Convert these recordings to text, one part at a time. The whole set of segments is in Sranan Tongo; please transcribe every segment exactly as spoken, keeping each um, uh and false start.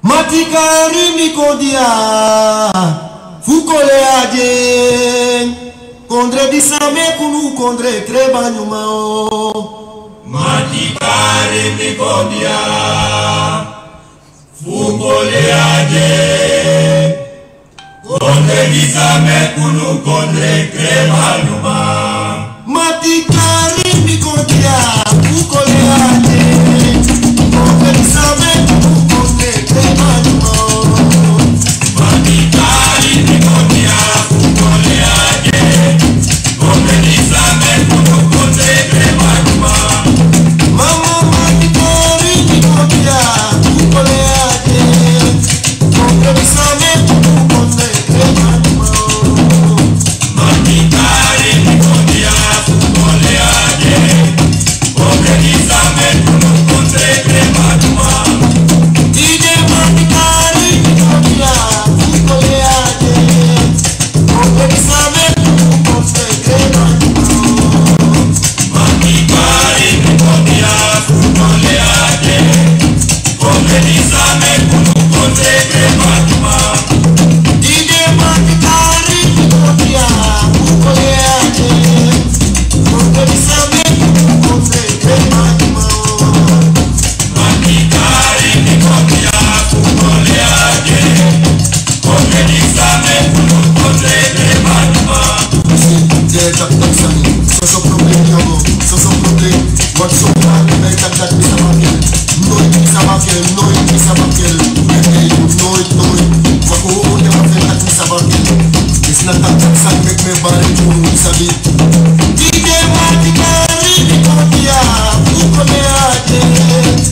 Mati kari mi kon dia fu kole aden. Kondre disi a meki unu kondre kre banyuma o. Mati kari mi kon dia fu kole aden. Kondre disi a meki unu kondre kre banyuma. Mati kari mi kon dia fu kole aden. Kondre disi a meki unu kondre kre banyuma. Mati kari mi kon dia fu kole aden. Kondre disi a meki unu kondre kre banyuma. Mama, mati kari mi kon dia fu kole aden. Soso problem, soso problem, soso problem. Wat so hard, mi taki dat mi sa bakel. Nooit mi sa bakel, nooit mi sa bakel. Nooit, nooit. Wat so hard, mi taki dat mi sa bakel. Is na taki dat sa meki mi bari, mi sabi. Ide mati kari mi kon dia fu kole aden.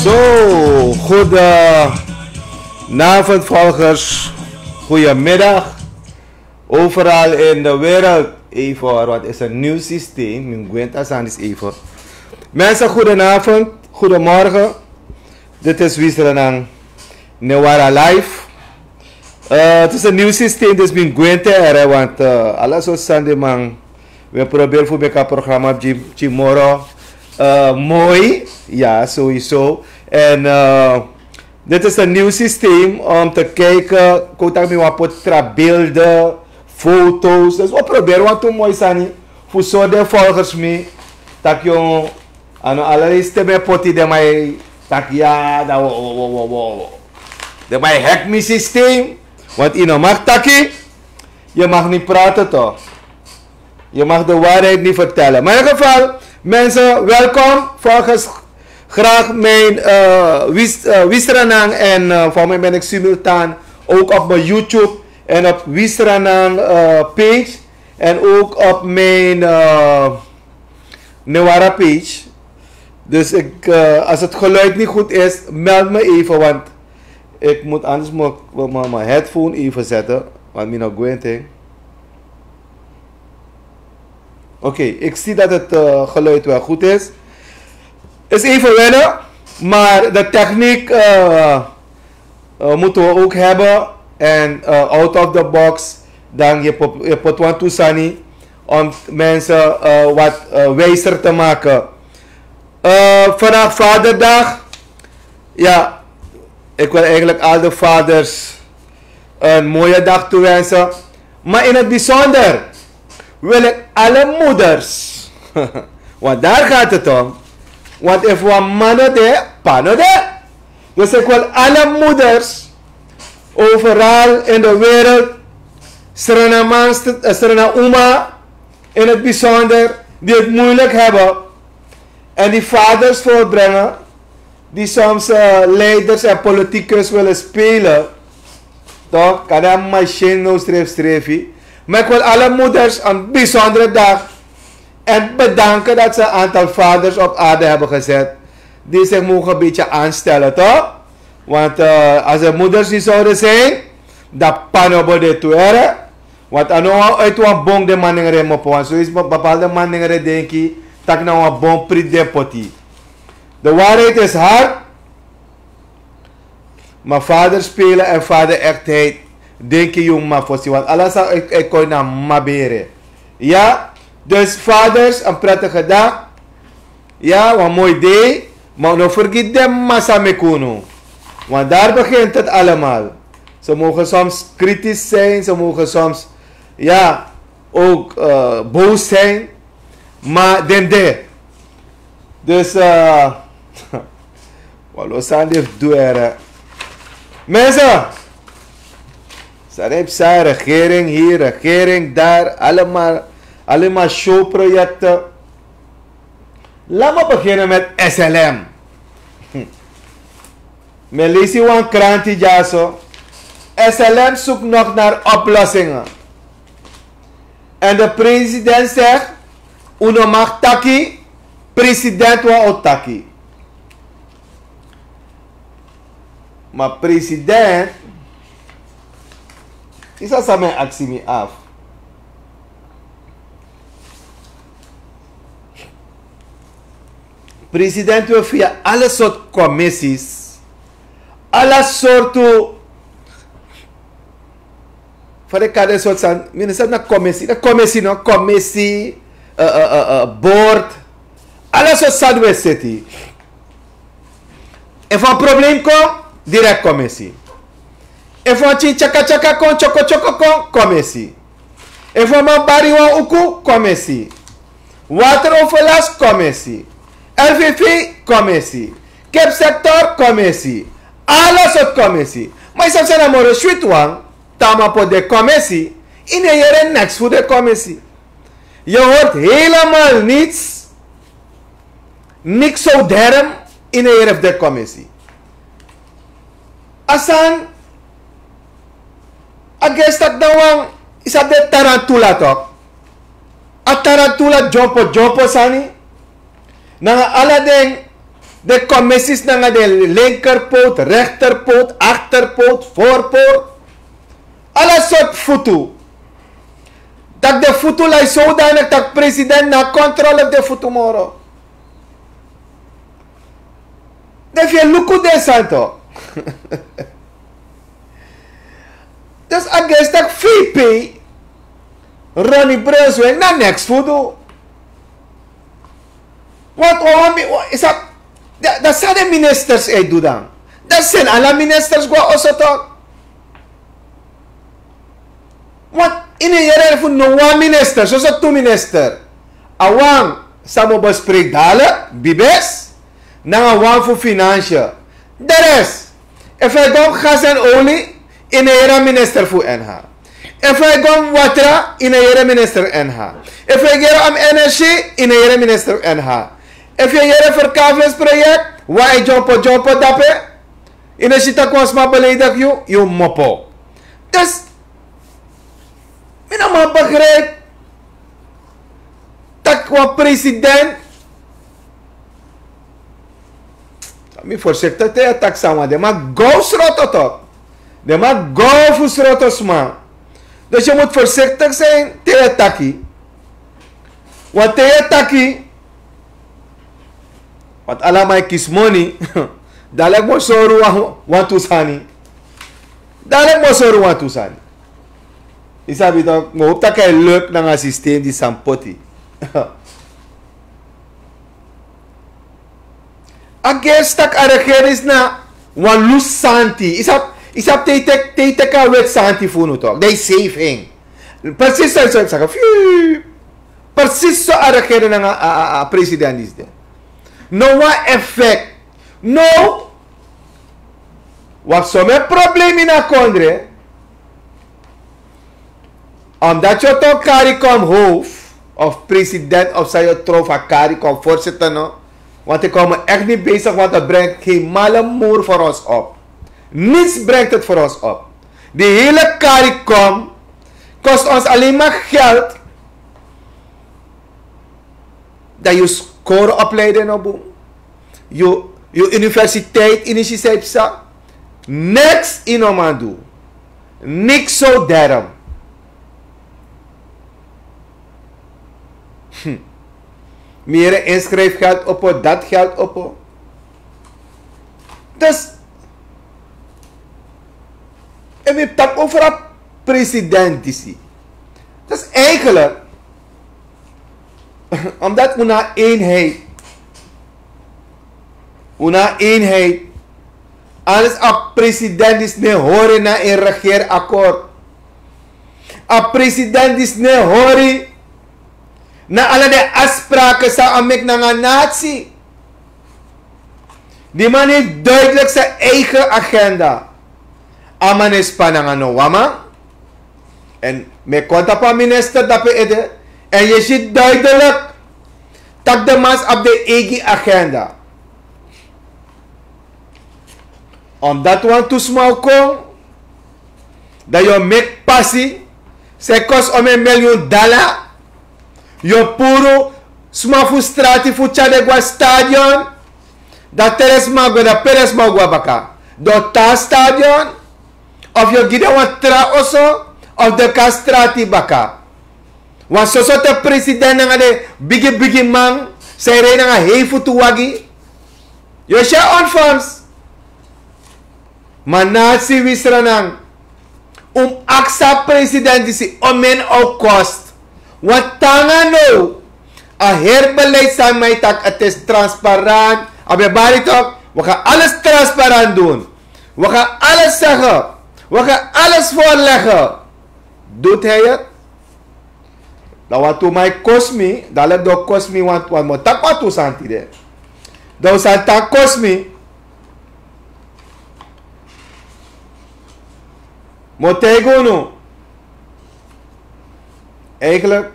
So, goedenavond volgers, goedemiddag. Overal in de wereld, even hoor, want het is een nieuw systeem. Mi gwenta sandis even. Mensen, goedenavond, goedemorgen. Dit is Wisselenang Newara Live. Eh, het is een nieuw systeem, dus mi gwente ere, want eh, alles wat Sunday man, we proberen voor elkaar programma op Jim, Jim Moro. Eh, mooi, ja, sowieso. En eh, dit is een nieuw systeem om te kijken, kotak mi wan potra beelden, foto's. Dus we proberen wat toen mooi sani. Voor zo de volgers mi, tak jong, ano allerlei stem e poti den man e taki ya, dan wo, wo, wo, wo, wo. Den man e hack mi systeem. Want yu no mag taki, je mag niet praten toch. Je mag de waarheid niet vertellen. Maar in ieder geval, mensen, welkom. Volgens graag mijn eh Wis, eh, Wisranang en eh, voor mij ben ik simultaan ook op mijn YouTube en op Wisranang eh, page en ook op mijn eh Newara page. Dus ik, eh, als het geluid niet goed is, meld me even, want ik moet anders mijn, mijn, mijn headphone even zetten, want mi no gwente. Oké, ik zie dat het eh, geluid wel goed is. Is even wennen, maar de techniek eh, eh, moeten we ook hebben. En eh, out of the box, dan je pop- je pot wan tu sani om mensen eh, wat eh, wijzer te maken. Eh, vandaag Vaderdag. Ja, ik wil eigenlijk al de vaders een mooie dag toewensen. Maar in het bijzonder wil ik alle moeders, want daar gaat het om. Want if wan man no de, pa no de. Dus ik wil alle moeders overal in de wereld, Srana man, Srana uma in het bijzonder, die het moeilijk hebben en die vaders voorbrengen, die soms eh, leiders en politicus willen spelen. Toch? Kan hij machine no streef strefi. Maar ik wil alle moeders een bijzondere dag en bedanken dat ze een aantal vaders op aarde hebben gezet die zich mogen een beetje aanstellen, toch? Want eh, als er moeders niet zouden zijn, dan pano bo de tuere. Want ano uit wan bong de manengre mopo. Want zo is bepaalde manengre denki tak na wan bong prit de poti. De waarheid is hard. Maar vader spelen en vader echtheid, denk je jong maar voor want alles uit uit kon na mabere. Ja, dus vaders, een prettige dag. Ja, wan mooi day. Maar no vergeet de massa mekunu. Want daar begint het allemaal. Ze mogen soms kritisch zijn, ze mogen soms, ja, ook eh, boos zijn. Maar den de. Dus eh, walo sani fu du ere. Mensen, sani fu san, regering hier, regering daar, allemaal, allemaal showprojecten. Laat me beginnen met S L M. Hm. Mi e leisi wan kranti dyaso. S L M zoekt nog naar oplossingen. En de president zegt, un no mag taki, president wan o taki. Maar president, is dat samen actie me af. President wil via alle soort commissies, alle soorten van de kade soort san, minister na commissie, na commissie no, commissie, uh, uh, uh, uh, board, alle soort san we city. Efu wan probleem kon, direct commissie. Efu wan tin tyaka tyaka kon, tyoko tyoko kon, commissie. Efu wan man bari wan uku, commissie. Water overlast, commissie. L V V, commissie. Kip sector, commissie. Ala sort commissie. Maar je zou zijn moro sweet wan, tama po de commissie. In de yere niks voor de commissie. Je hoort helemaal niets. Niks zo derm in de yere de commissie. Asan, a gestak dan wan, is a de tarantula toch? A tarantula jumpo jumpo sani. Nanga ala den, de commissies nanga de linkerpoot, rechterpoot, achterpoot, voorpoot. Ala sort futu. Dat de futu lai zodanig dat president na controle de futu moro. De fi luku de santo. A gesi taki fei pei. Ronnie Brunswijk na neks fu du. Wat wan mi wan isa. Dan san den ministers e du dan? Dan seni ala ministers go na oso tok. Want ini yere fu no wan minister soso tu minister. A wan san mus besprek dalik bibes nanga wan fu finansie. De res, efu a e go mus gas en oli, ini yere a minister fu en ha. Efu a e go mus watra, ini yere minister en ha. Efu a e go mus energie, ini yere minister en ha. Efu a e yere ferkafles projek, wan e dyompo dyompo dape. Ini si taki wan sma beledik yu, yu mopo. Dus mi no man begrijp taki wan president. Mi voorzichtig te ya taki sama den man go sroto tok. Den man go fu sroto sma. Dus yu mus voorzichtig zijn te ya taki. Want te ya taki, want ala man e kisi moni. Dalik mus sori wan tu sani. Dalik mus sori wan tu sani. Yu sabi tok, mi hopi taki a e luk nanga a systeem di san poti. A gersi taki a regerings na wan lus santi. Yu sabi te yu teki a weti santi fu unu tok, dan yu save en. Presis so yu saka fiu. Presis so a regerings nanga a president disi de. No wan effect. No. Wi abi somen problem ini a kondre. Omdat yu o toon kari kon hof of president of san yu o tron fu a kari kon voorzitter no. Want ik hou me echt niet bezig want het brengt geen malle moer voor ons op. Niets brengt het voor ons op. Die hele kari kon kost ons alleen maar geld. Dan yu skoropleiding no bun. Yu universiteit ini si san yu psa. Niks yu no man du. Niks so derm. Mi yere inschrijfgeld opo dat geld opo. Dus en mi taki over a president disi. Dus eigenlijk omdat un na eenheid un na eenheid. Anders a president disi no e hori na en regeerakkoord. A president disi no e hori na ala den afspraken san a meki nanga nati. Di man hefi duidelik san eigen agenda. A man e span nanga no wan man. En mi e kon tapu a minister dape ede. En yu si duidelik tak' de mans abi den eigi agenda. Omdat wan tu sma o kon dan yu o meki pasi san e kosi omen milyun dala. Yu o puru sma fu strati fu tyari den go na stadion. Dan te den sma go dan pe den sma o go na baka? Dan o tan na stadion? Of yu o gi den wan tra oso of den kon na strati baka? Wan soso te president nanga den bigi bigi man san e rei nanga hei futu wagi. Yu o si a ontvangst. Ma na a siwi sranan un mus aksi a president disi omen a o kost. Wan tanga now a heri beleid san mi e taki a tesi transparant. A ben bari tok. Wi ga alles transparant dun. Wi ga alles sege. Wi ga alles vorlege. Dut hij het? Dan wantu man e kosi mi dan leki den o kosi mi wantu wantu mi o taki wantu sani tide. Dan un sani tan kosi mi. Mi o taigi unu. Eigenlik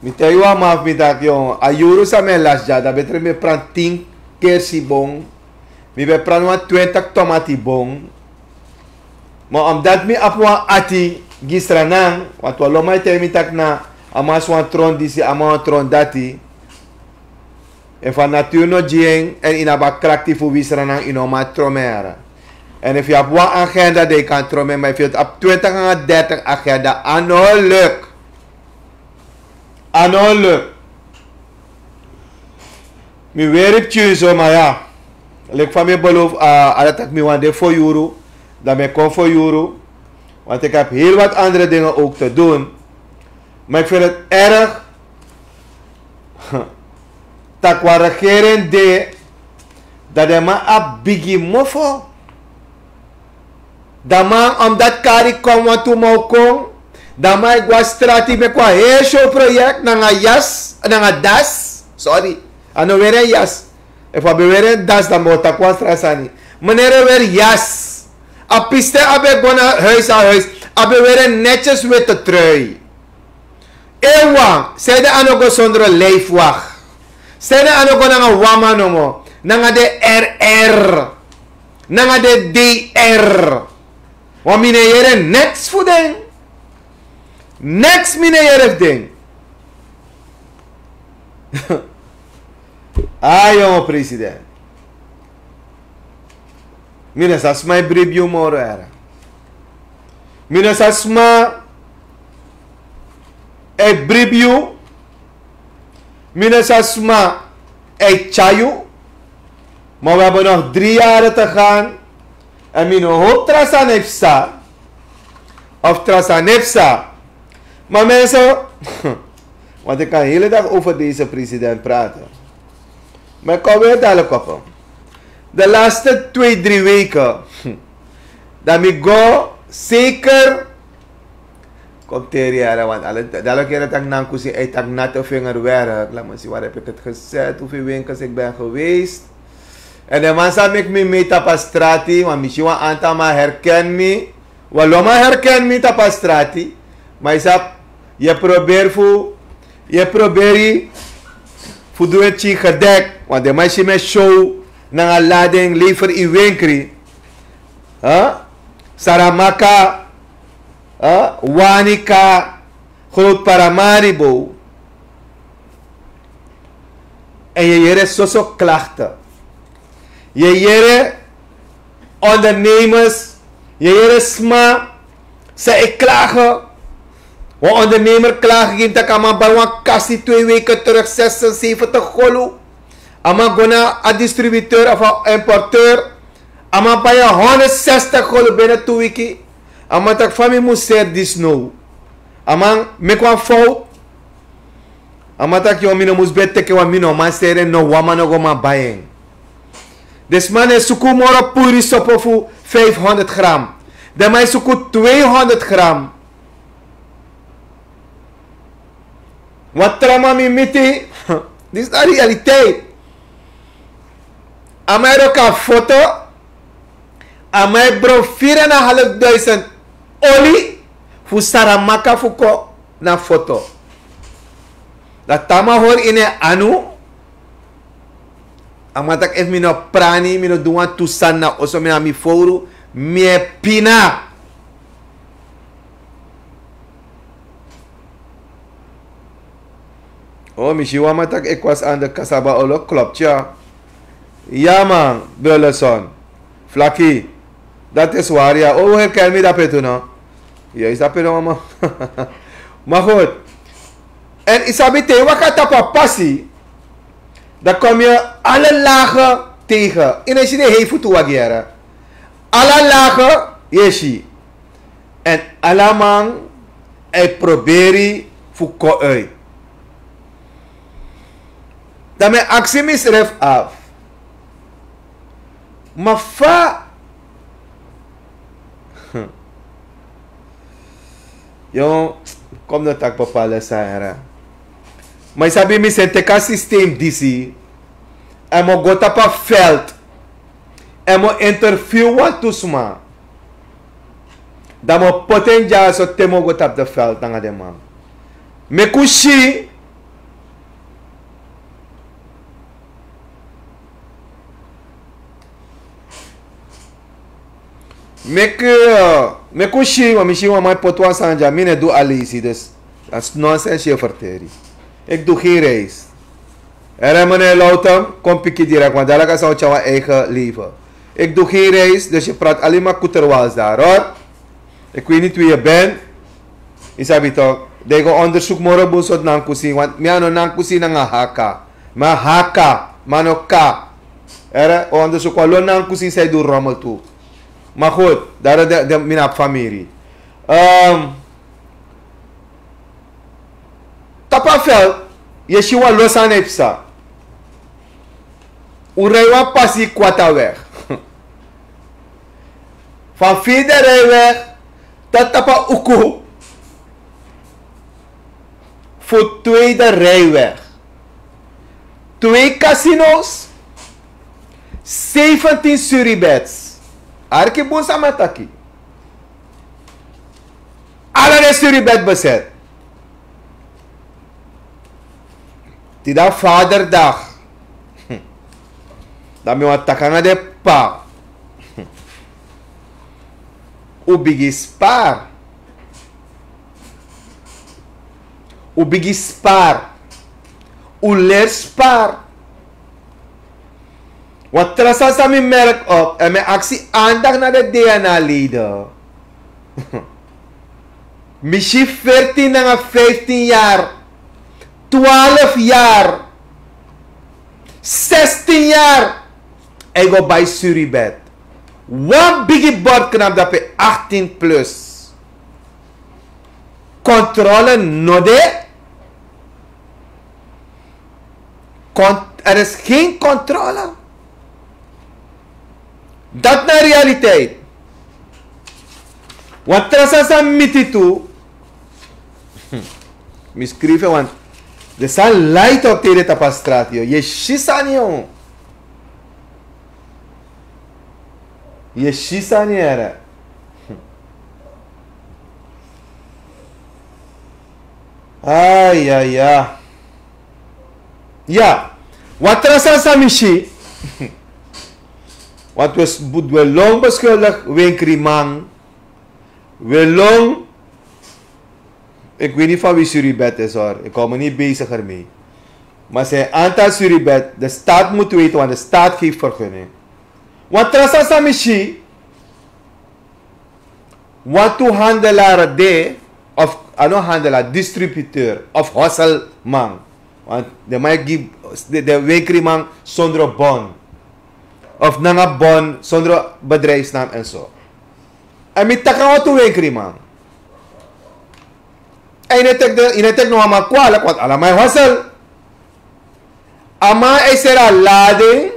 mi taigi wan man fu mi taki a yuru san mi e lasi dya dan betre mi e pranti tin kersi bon. Mi ben pranti wan twintik tomati bon. Ma omdati mi abi wan ati gisranan wantu a loman e taigi mi taki na a man si wan tron disi a man wan tron dati. Efu a naturu no gi en èn yu no abi a krakti fu wisranan yu no man tromer. Èn efu yu abi wan agenda dan yu kan tromer ma efu yu abi twintik nanga dertik agenda a no luk. A no luk. Mi weri pikin so ma ya leki fa mi e belofu a ala taki mi wani de fo yuru. Dan mi e kon fo yuru. Want ik heb heel wat andere dingen ook te doen. Maar ik vind het erg dat qua regering de dat de man a bigi mofo. Dan man omdat kari kon want tu mau kon. Dan man ik was strati me kwa heel show project nanga jas nanga das. Sorry. Ano weren jas. Efu a ben weren das dan mo takwa strasani. Meneer wer jas. A piste a ben go na huis aan huis. A ben weren netjes witte trui. Ewa, zij de ano go zonder lijfwacht. Zij de ano go nanga wama nomo. Nanga de R R. Nanga de D R. Wan mine yere neks fu den. Neks mine yere fu den. Ayo president. Mina sa sma e bribi yu moro era. Mina sa sma e bribi yu. Mina sa sma e tya yu. Maar we hebben nog drie jaren te gaan. En mino hoop trasanepsa of trasanepsa. Maar mensen, want ik kan de hele dag over deze president praten. Maar ik kom weer dadelijk op hem. De laatste twee drie weken dat mi go zeker. Kom teri yara want alle dalo kere tak nankusi ei tak natte vinger werk. Laat me zien waar heb ik het gezet, hoeveel winkels ik ben geweest. En de man sa mek mi mee tapa strati want misschien wan aantal man herken mi. Waloma herken mi tapa strati. Maar je sap, je probeer fu je probeer fu doe het chi gedek. Want de man si me show nanga lading lever i winkri. Huh? Saramaka, huh? Wanika, groot Paramaribo. En je yere soso klachten. Je yere ondernemers, je yere sma, ze e klagen. Wan ondernemer klagen ging tak a man bai wan kasi twee weken terug zesenzeventig golu. A man go na a distributeur of a importeur. A man bai a honderdzestig golu binnen twee wiki. A man tak fa mi mus seri dis now. A man meki wan fout. A man tak yo mi no mus ben teke wan mi no man seri en no wan man no go man bai en. Disi man e suku moro puri sopo fu vijfhonderd gram. Den man e suku tweehonderd gram. Wan tra man mi miti. Disi na realiteit. A man e roka foto. A man e bron vier en een half duizend oli fu Saramaka fu kon na foto. Dan te a man hori ini en anu. A man taki efu mi no prani, mi no du wantu sani na oso, mi na mi fowru, mi e pina. O mi si wan man taki ekwasi ande kasaba olo klopti ya. Ya man, Burleson, Flaki, dati e swari ya. O un herken mi dape tu no? Yes dape no mama. Ma goed. En yu sabi te yu waka tapu a pasi, dan kom yu ale lage tegen. Yu no e si den hei futu wagi yara. Ala lage yu e si. En ala man e proberi fu kon uit. Dan mi e aksi misref afu. Ma fa yon kom no taki papale sani yara. Ma yu sabi mi seni teki a sistem disi. Èn mi o go tapu a veld. Èn mi o interview wantu sma. Dan mi o poti en dyaso te mi o go tapu de veld nanga den man. Meki un si. Meki meki un si wan mi si wan man e poti wan sani dya mi no e du a leisi dus. Dati nonsens yu e ferteri. Eki du gen reis. Ere mene loutem kon piki direk wan dalaka san un tyari wan eigen leven. Eki du gen reis dus yu prati alima kuterwals dari hori. Eki wini tu yu ben. Yu sabi tok dan yu go ondersuku moro bun sortu nankusin want mi a no nankusin nanga haka. Ma haka ma no ka. Ere ondersuku wan lo nankusin san yu du romel tu. Ma goed dari de mi na abi famiri. Ehm, tapu a veld, yu e si wan lo sani e psa. Un rij wan pasi kwati a weg. Van vierde rijweg tot tapu a uku fu tweede rijweg. Twee casino's, zeventien suribeds. Arki bun san mi e taki. Ala den suribed bezet. Tide na Vaderdag. Dan mi wani taki nanga den p'pa. Un bigin spar. Un bigin spar. Un leri spar. Wan tra sani san mi merk op, èn mi e aksi andacht na den D N A-leden. Mi si veertien nanga vijftien yari, twaalf yari, zestien yari, e go bai suribed. Wan bigi bord knapu drape, achttien plus. Controle no de. Con-, er is geen controle. Dat na realiteit. Wan tra sani san mi miti tu. Mi skrifi en, want den sani lai tok tide tapu a strati, yu e si sani, yu e si sani, here. Ai, ai, ai. Ya, wan tra sani san mi si. Want we s-, we lon beschuldig wenkriman. We lon, ik weet niet van wie suribed is, hoor. Ik hou me niet bezig ermee. Maar zijn aantal suribed, de staat moet weten, want de staat geeft vergunning. Wan tra sani san mi si. Wantu handelaar de, of, a no handelaar, distributeur of hosselman. Want den man e gi, den, den wenkriman sondro bon. Of nanga bon, sondro bedrijfsnaam en zo. Èn mi taki wantu wenkriman. Èn yu no e teki den, yu no e teki no wan man kwalijk, want ala man e hossel. A man e seri a lading,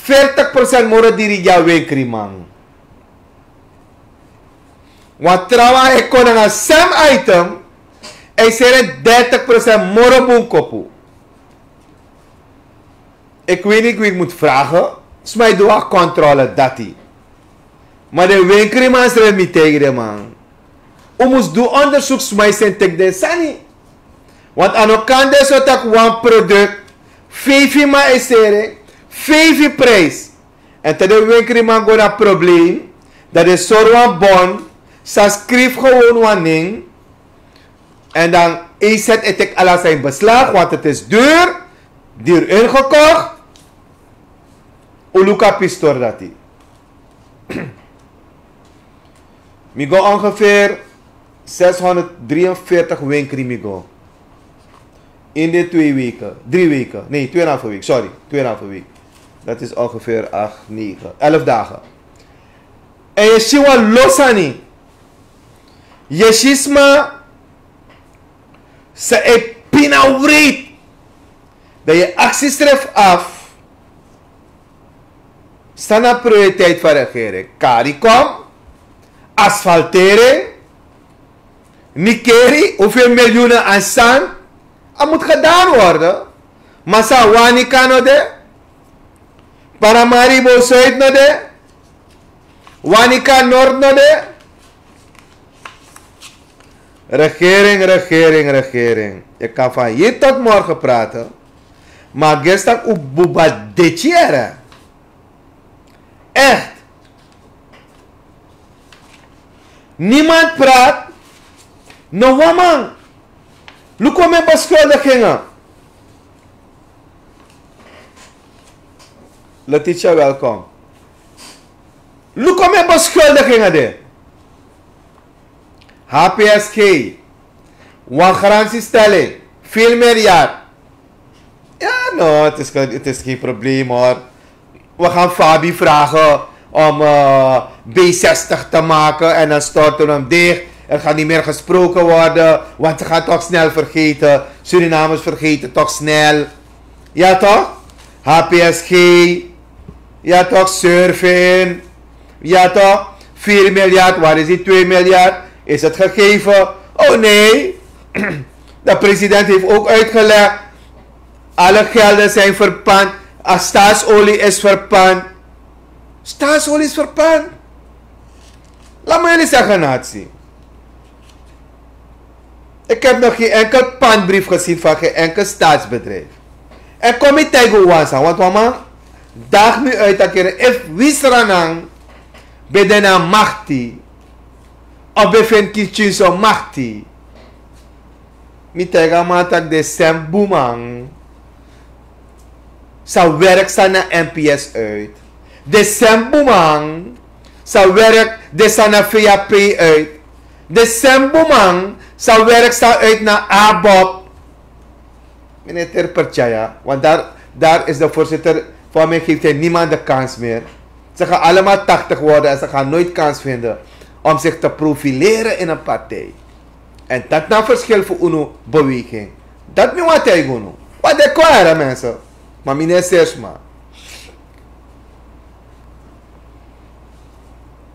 veertig procent moro diri gi a wenkriman. Wan trawan e kon nanga sem item, e seri en dertig procent moro bun kopu. Ik weet niet wie ik moet vragen. Sma e du a controle dati. Maar den wenkriman srefi, mi taigi den man. Un mus du onderzoek, sma e seni teki den sani. Want a no kan de so taki wan product, feifi man e seri, feifi prijs. Èn te den wenkriman go na probleem, dan den sori wan bon, san skrifi gewoon wan nen, en dan E Z e teki ala san in beslag, want het is duur, duur ingekocht. Un luku a pistor dati. Mi go ongeveer zeshonderddrieënveertig wenkri mi go. In de twee weken, drie weken, nee, tweeënhalve week, sorry, tweeënhalve week. Dat is ongeveer acht, negen, elf dagen. Èn yu e si wan lo sani. Yu e si sma, san e pina wreed. Dan yu e aksi yusrefi af. San na prioriteit van regering? Caricom, asfaltering, Nikeri, hoeveel miljoenen aan zand? Het moet gedaan worden. Maar san, Wanica no de, Paramaribo Zuid no de, Wanica Noord no de. Regering, regering, regering. Je kan van hier tot morgen praten. Maar gisteren u buba detiere. Echt. Niemand praat. No wan man. Luku mi beschuldigingen. Letitia, welkom. Luku mi beschuldigingen de. H P S G. Wan garantiestelling. Veel miljard. Ja, no, het is, het is geen probleem, hoor. We gaan Fabi vragen om, eh, B zestig te maken en dan storten we hem dicht. Er gaat niet meer gesproken worden, want ze gaan toch snel vergeten. Surinamers vergeten toch snel. Ja toch? H P S G. Ja toch? Surfin. Ja toch? Vier miljard, waar is die twee miljard? Is het gegeven? Oh nee. De president heeft ook uitgelegd. Alle gelden zijn verpand. A, staatsolie is verpand. Staatsolie is verpand. Laat me jullie zeggen, natie. Ik heb nog geen enkel pandbrief gezien van geen enkel staatsbedrijf. En kom niet tegen Wansa, want wan man daag mi uit dat keren, if wi Sranan ben de na makti, of ben vind Kinshasa makti. Mi taigi a man taki den sem bun man sa werk san na N P S uit. Den sem bun man sa werk den san na V A P uit. Den sem bun man sa werk san uit na ABOP. Meneer Terpertjaya, want daar, daar is de voorzitter, voor mij geeft hij niemand de kans meer. Ze gaan allemaal tachtig worden en ze gaan nooit kans vinden om zich te profileren in een partij. En dat na verschil voor unu beweging. Dat mi want tegen unu. Wat de kwara mensen. Maar meneer Sersma.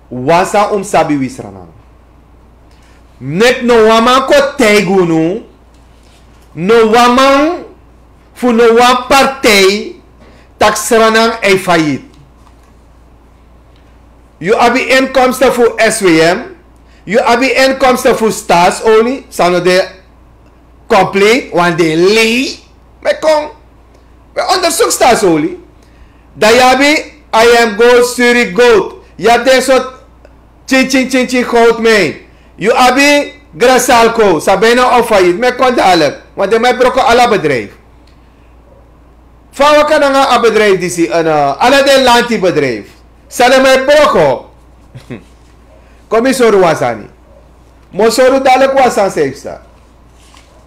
Wansa un sabi wi Sranan. Nek no wan man kon taigi unu, no wan man fu no wan partij taki Sranan e failliet. Yu abi inkomsten fu S W M, yu abi inkomsten fu staatsolie, san no de compleet, want den lei. Mi kon, mi onderzoek staatsolie. Dan yu abi I M Gold, Suri Gold. Yu abi den sort chin chin chin chin goudmijn. Yu abi Grasalco, san bijna on failliet. Mi kon dadelijk, want den man e broko ala bedrijf. Fa wi kan nanga a bedrijf disi, en, eh, ala den lanti bedrijf. San den man e broko. Kon mi sori wan sani. Mi o sori dadelijk wan sani san e psa.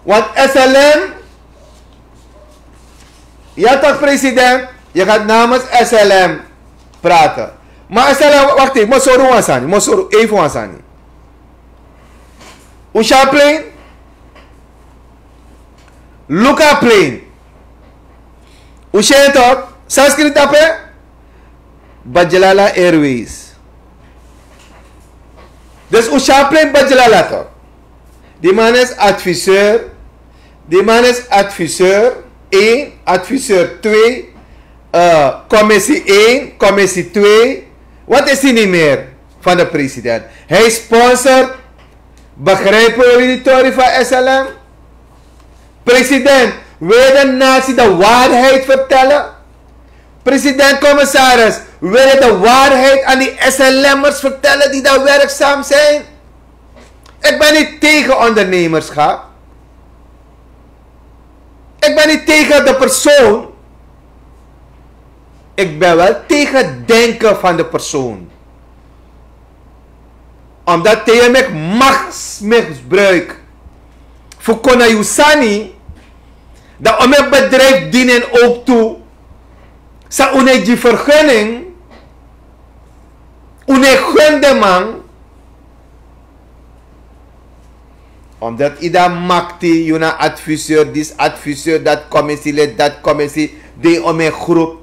Want S L M, ja toch president, je gaat namens S L M praten. Maar S L M, wacht even, mi o sori wan sani, mi o sori even wan sani. Un si a plane? Luku a plane. Un si en toch? San skrifi drape? Bajalala Airways. Dus un si a plane Bajalala toch? Die man is adviseur. Die man is adviseur één, adviseur twee, eh, commissie één, commissie twee. Wat is hij niet meer van de president? Hij sponsort, begrijpen jullie die tori van S L M? President, wil je de natie de waarheid vertellen? President-commissaris, wil je de waarheid aan die S L M'ers vertellen die daar werkzaam zijn? Ik ben niet tegen ondernemerschap. Ik ben niet tegen de persoon. Ik ben wel tegen denken van de persoon. Omdat te yu meki machtsmisbruik fu kon na yu sani, dan un no e bedrijf dini en ook tu. San un no e gi vergunning, un no e gun den man. Omdat yu dan makti, yu na adviseur, disi adviseur, dat commissielid, dat commissie, de ome groep.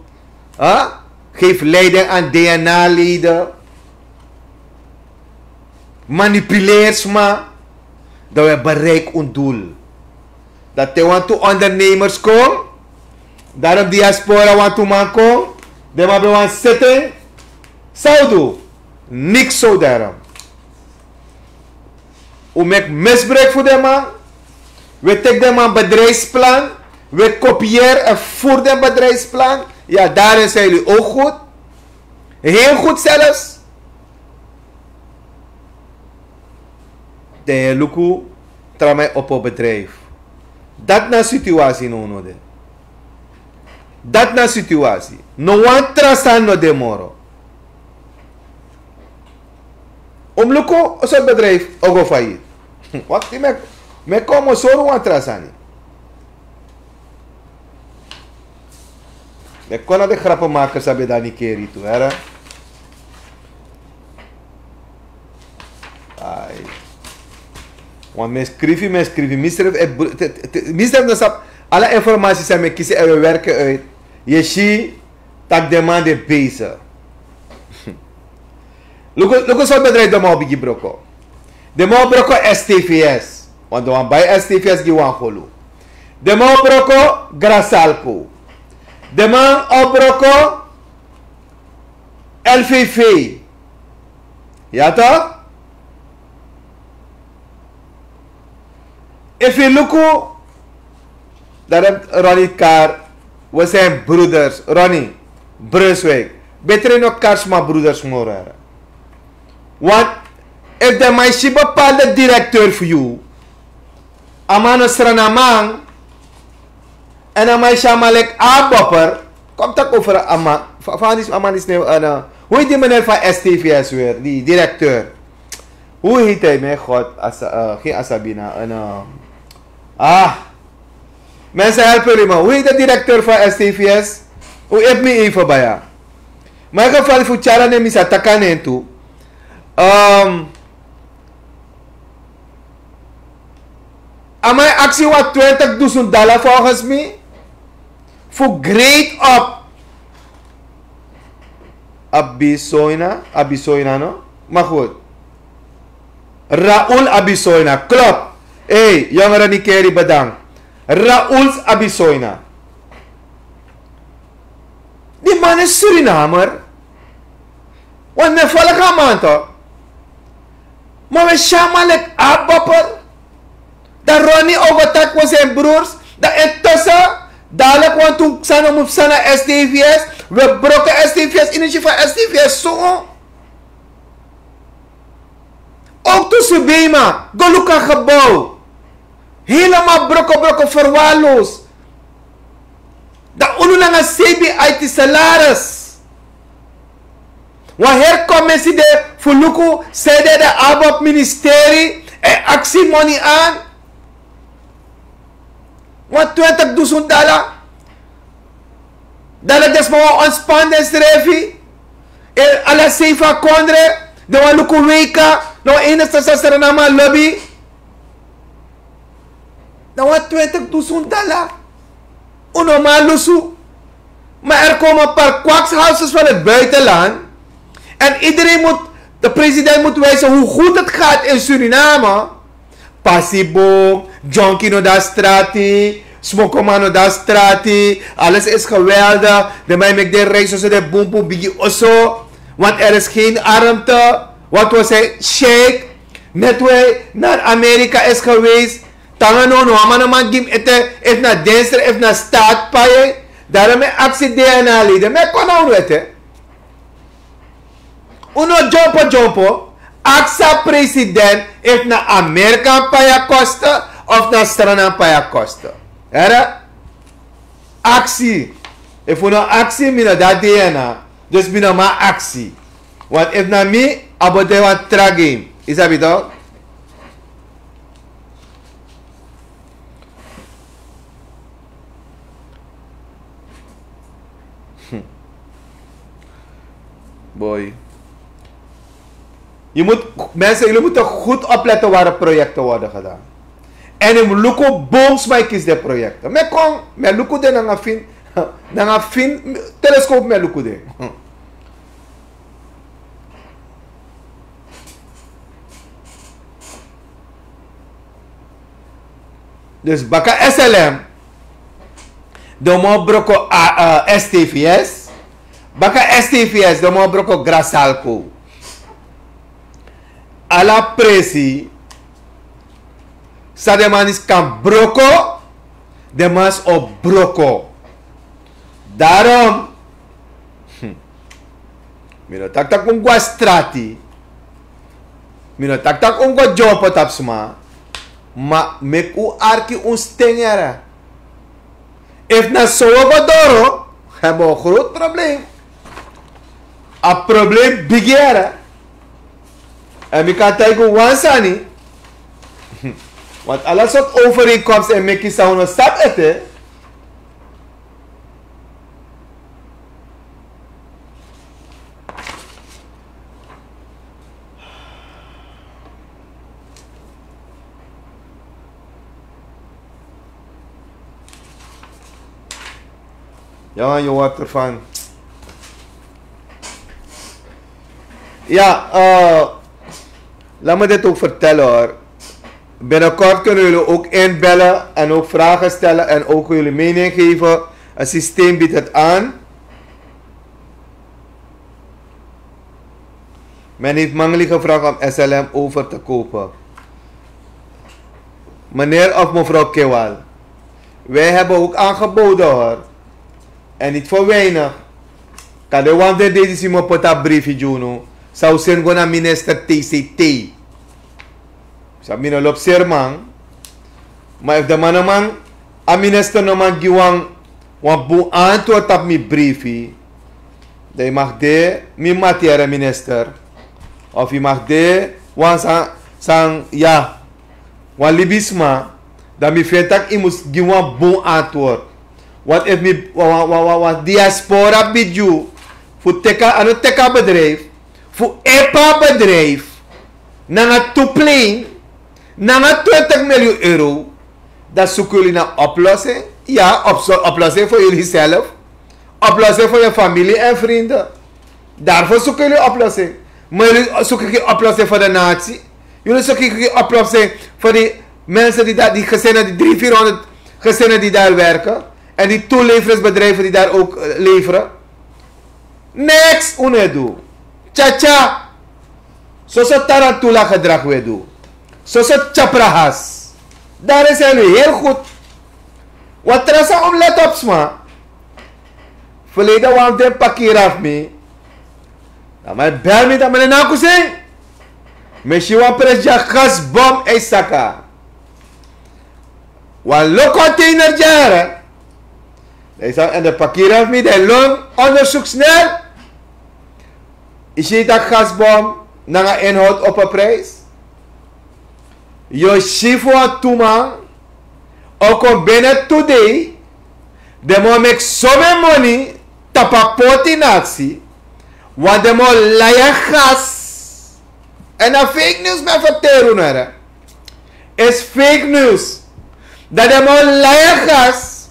Huh? Geef leiding aan D N A-leden. Manipuleer sma. Dan we bereik un doel. Dat te wantu ondernemers kon. Daarom diaspora wantu man kon. Den man ben wan zitting. San un du? Niks zo daarom. Un meki misbruik fu den man. We teki den man bedrijfsplan. We kopieer en voer den bedrijfsplan. Ja, daarin zijn jullie ook goed. Heel goed zelfs. Dan yu luku, tra man e opo bedrijf. Dat na situatie no no de. Dat na situatie. No wan tra sani no de moro. Un mus luku, a sort bedrijf o go failliet. Wakti, mi e, mi e kon, mi o sori wan tra sani. Mi e kon na den grappenmakers san ben de na Nikeri tu, here. Want mi e skrifi, mi e skrifi, mi srefi e bru- te- te- te- mi srefi no sabi ala informasi san mi e kisi en, we werken uit. Yu e si tak' den man de bezig. Luku, luku sortu bedrijf den man o bigin broko. Den man o broko S T V S. Want den wani bai S T V S gi wan golu. Den man o broko Grasalco. Den man o broko L V V. Ya toch? Efu yu luku, dan Ronnie Kar, we zijn broeders. Ronnie, Brunswijk. Beter no Karsma broeders moro. Want efu den man e si bepaalde directeur fu yu, a man no Srananman, èn a man e si a man leki a bopper. Kom taki over a man. Fa- fa a man disi, a man disi, ne- eh, no. Hoe heet die meneer van S T V S weer? Die directeur. Hoe heet hij? Mijn god. Asa- eh, geen Asabina. En, eh, ah. Mensen, help jullie me. Hoe heet de directeur van S T V S? Hoe heet me even bij? Maar in ieder geval, voor Tjara, neem is a taka nen toe. Ehm, A man e aksi wan twintig dusun dala volgens mi fu grade op Abisoina, Abisoina, no? Maar goed. Raul Abisoina, klopt. Hey, jongeren, Nikeri, bedankt. Raul Abisoina. Die man is Surinamer. Want mi e folg a man toch. Maar we si a man leki a bopper. Dan Ronnie o go taki we zijn broers. Dan intussen, dadelijk, want toen Xana moet zijn naar S T V S. We broken S T V S, energie van S T V S zo. Ook tussen Bema, go luku a gebouw. Helemaal broko broko, verwaarloosd. Dan unu nanga C B I T salaris. Wan heri commissie de fu luku san de de ABOP ministerie e aksi money aan. Wan twintig dusun dala. Dala den sma wan ontspan densrefi. E ala sei fu a kondre. Den wan luku weika. Na wan enigste sasra na man lobi. Na wan twintig dusun dala. Un no man lusu. Maar er komen een paar kwakshouses van het buitenland. En iedereen moet, de president moet wijzen hoe goed het gaat in Suriname. Pasiboom, junkie no de na strati, smokoman no de na strati, alles is geweldig. De man meki den reis, so de boom boom bigi oso. Want er is geen armte, want we zijn chic. Net wij naar Amerika is geweest, tanga no no, a man no man gi mi ete, efu na denster, efu na staat pai. Daarom mi e aksi D N A leden, mi e kon na unu ete. Un no dyompo dyompo, aksi a president efu na Amerika pai a kosten, of na Sranan pai a kosten. Here? Aksi. Efu un no aksi, mi no de na D N A. Dus mi no man aksi. Want efu na mi, a bo de wan tra game. Yu sabi toch? Boy. Je moet, mensen, jullie moeten goed opletten waar de projecten worden gedaan. En in luku boom sma e kisi den projecten. Mi e kon, mi e luku den nanga fin, nanga fin telescope mi e luku den. Dus baka S L M, den man o broko a, a, S T V S. Baka S T V S, den man o broko Grasalco. Ala presi san den man disi kan broko, den man disi o broko. Daarom, hm, mi no taki tak' un go na strati. Mi no taki tak' un go dyompo tapu sma. Ma meki un arki un sten, yere. Efu na so un o go doro, hebben we een groot probleem. A probleem bigi, yere. En mi kan taigi un wan sani. Want ala sortu overeenkomsten e meki san un no sabi ete. Ja, je hoort ervan. Ja, eh, laat me dit ook vertellen hoor. Binnenkort kunnen jullie ook inbellen en ook vragen stellen en ook jullie mening geven. Het systeem biedt het aan. Men heeft Mangli gevraagd om S L M over te kopen. Meneer of mevrouw Kewal, wij hebben ook aangeboden hoor. En niet voor weinig. Kan de wan de dei di si mi o poti a briefi gi unu, san un seni go na minister T C T. Sabi mi no lobi seri man. Ma efu den man no man, a minister no man gi wan, wan bun antwoord tapu mi briefi, dan yu mag de mi mati, here minister. Of yu mag de wan san, san, ya, wan libisma, dan mi feni tak' yu mus gi wan bun antwoord. Want efu mi, wan, wan, wan, wan, wan diaspora bid yu fu teki a, a no teki a bedrijf, fu epa bedrijf nanga tu plein, nanga twintig miljoen euro, dan zoeken jullie naar oplossing. Ja, op, oplossing voor jullie zelf. Oplossing voor je familie en vrienden. Daarvoor zoeken jullie oplossing. Maar jullie zoeken geen oplossing voor de natie. Jullie zoeken geen oplossing voor die mensen die daar, die gezinnen, die drie, vierhonderd gezinnen die daar werken. En die toeleveringsbedrijven die daar ook eh, leveren. Niks un no e du. Tya tya. Soso tarantula gedrag un e du. Soso tyaprahas. Daar is hij nu heel goed. Wat trasa om let op sma. Verleden wan fu den pakira fu mi. Dan mi bel mi dan mi na kusin. Mi si wan pres dya gasbom e saka. Wan lo container dya. Dan yu sabi, en de pakira fu mi, den lon onderzoek snel. Yu si tak' gasbom nanga inhoud op a prijs. Yu o si fu wan tu man o kon bene tu dei. Den man o meki somen moni tapu a poti na aksi. Want den man o lai a gas. En na fake news mi e ferteri unu, here. Is fake news. Dan den man o lai a gas.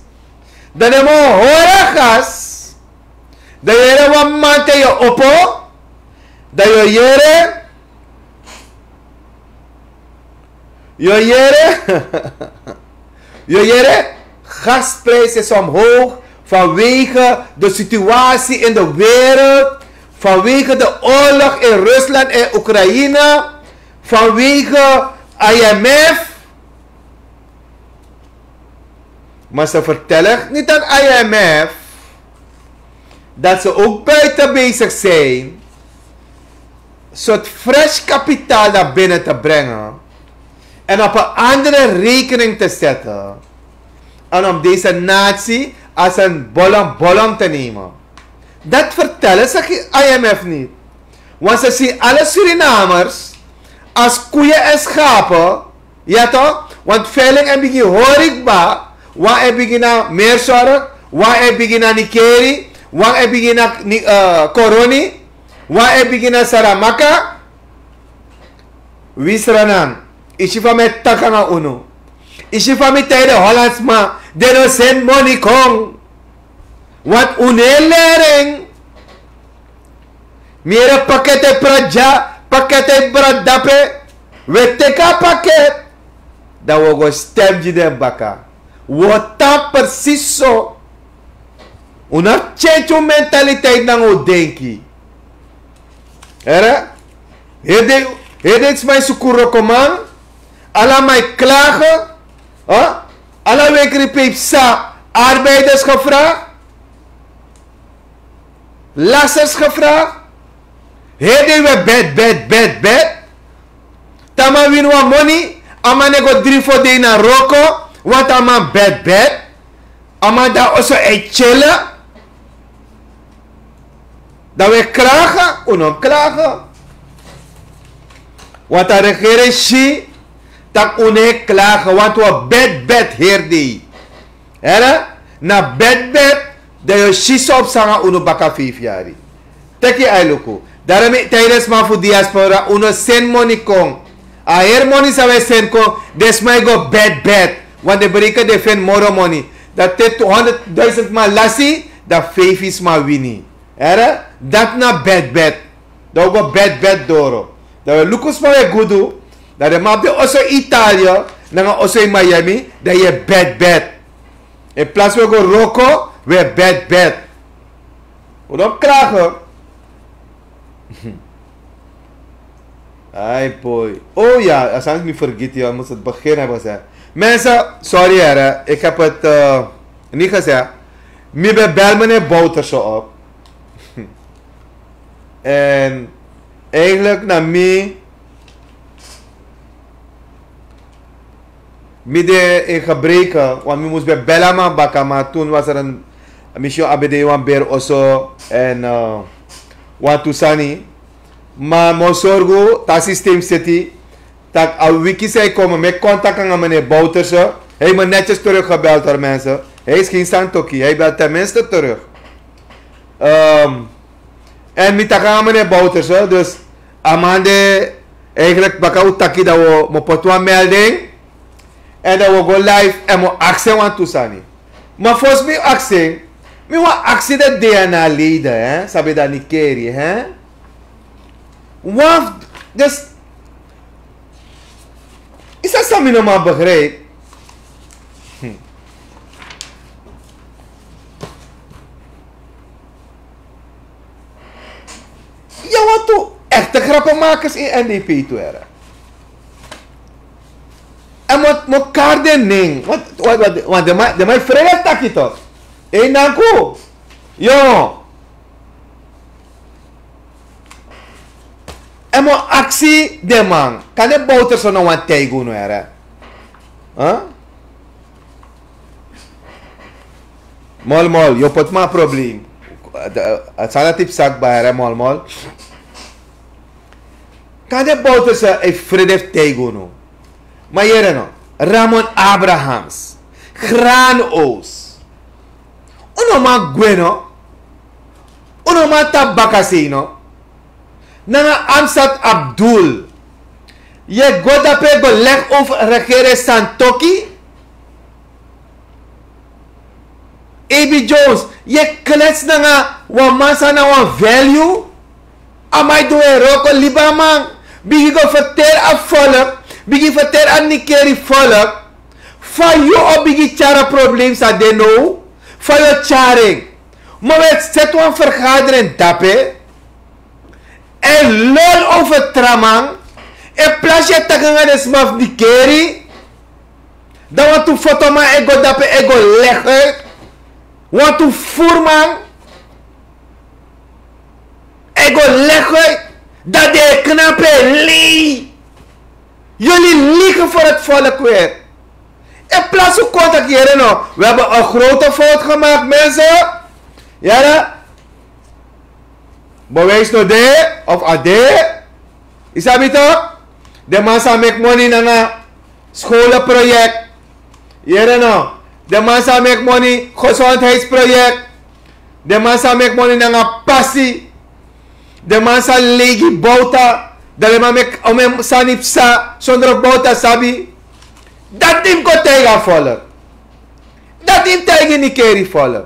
Dan den man o hori a gas. Dan yu yere wan man te yu o opo. Dan yu o yere. Yu o yere. Yu o yere. Gasprijs is omhoog vanwege de situatie in de wereld. Vanwege de oorlog in Rusland en Oekraïne. Vanwege I M F. Maar ze vertellen niet aan I M F dat ze ook buiten bezig zijn soort fresh kapitaal naar binnen te brengen en op een andere rekening te zetten en om deze natie als een bolom bolom te nemen. Dat vertellen ze geen I M F niet. Want ze zien alle Surinamers als koeien en schapen. Ja toch? Want veiling e bigin hori kba, wan e bigin na Meerzorg, wan e bigin na Nickerie, wan e bigin na Ni- eh, Coronie, wan e bigin na Saramacca. Wi Sranan, yu si fa mi e taki nanga unu. Yu si fa mi taigi den Hollandsman, den no seni moni kon. Want un no e leri en. Mi yere paket e prati dya, paket e prati dape. Wi e teki a paket, dan wi o go stem gi den baka. Wi o tan precies so. Un no abi tyentyen un mentaliteit nanga un denki. Here? Heri den, heri den sma e suku wrokoman. Ala man e klage. Huh? Ala wekri pe yu psa, arbeiders gevraagd. Lasters gevraagd. Heri dei wi e bed, bed, bed, bed. Te a man wini wan moni, a man no e go dri fo dei na wroko, want a man bed, bed. A man de na oso e tyele. Dan wi e klage, un no klage. Want a regering si tak' un no e klage, want wi o bed, bed heri dei. Here, na bed bed, dan yu o si san o psa nanga unu baka feifi yari. Teki yu ai luku. Daarom mi e taigi den sma fu diaspora, un no seni moni kon. A heri moni san wi e seni kon, den sma e go bed bed. Want den bereken den feni moro moni. Dan te tu honderd duizend man lasi, Dan feifi sma wini. Here, dati na bed bed. Dan wi go bed bed doro. Dan wi luku sma wi e gudu. Dan den man abi den oso Italië nanga oso in Miami, dan yu e bed bed. In plaats wi e go wroko, wi e bed bed. Wi no klage. Ai boy. Oh ja, a sani mi fergiti, yu mus het begin hebben gezegd. Mensen, sorry here, ik heb het eh, niet gezegd. Mi ben bel meneer Bouterse op. En eigenlijk na mi mi de in gebreken, want mi mus ben bel a man baka, maar toen was er een mission abd wan ber oso en eh, wan tu sani. Maar mo sorgu ta systeem city, tak a wiki zij komen met contact aan meneer Bouterse. Hij me netjes teruggebeld, hoor, mensen. Hij is geen Santoki, hij belt tenminste terug. Ehm, en mi taki nanga meneer Bouterse, dus a man de eigenlijk baka wi taki dan wi mo poti wan melding. En dan wi go live en mi o aksi en wan tu sani. Maar volgens mi aksi en, mi wan aksi de D N A leden, hè, sabi dan Nikeri, hè. Wan, dus, is dat sami no man begrijp? Hm. Ya want tu echte grappenmakers in N D P tu here. En mo, mo kari den nen. Want, want, want, want den man, den man e frede taki toch. Ei, nanku. Yo. En mo aksi den man. Kan den Bouterse no wan taigi unu here. Huh? Mol mol, yu o poti mi na probleem. A sani dati psa kba here, mol mol. Kan den Bouterse e frede fu taigi unu. Ma yere no. Ramon Abrahams. Granoos. Un no man gwe no. Un no man tapu bakasei no. Nanga Amsat Abdul. Yu e go dape go leg over regering Santoki. A B Jones, yu e klets nanga wan man san na wan value. A man e du en wroko, libi a man. Bigin go ferteri a volk, bigin ferteri a Nikeri volk fa yu o bigin tyari a probleem san de now, fa yu o tyari en. Ma wi e seti wan vergadering dape. En lol over tra man. En plas yu e taki nanga den sma fu Nikeri. Dan wantu fotoman e go dape e go leg uit. Wantu furman e go leg uit. Dan den e knapu en lei. Jullie liegen voor het volk weer. In plaats van contact hier no. We hebben een grote fout gemaakt, mensen. Yere. Bewijs no de of a de. Yu sabi toch? Den man sa meki moni nanga scholenproject. Yere no. Den man sa meki moni gezondheidsproject. Den man sa meki moni nanga pasi. Den man sa lei gi Bouta. Dan den man meki omeni sani psa sondro Bouta sabi. Dati yu mus go taigi a volk. Dati yu mus taigi Nikeri volk.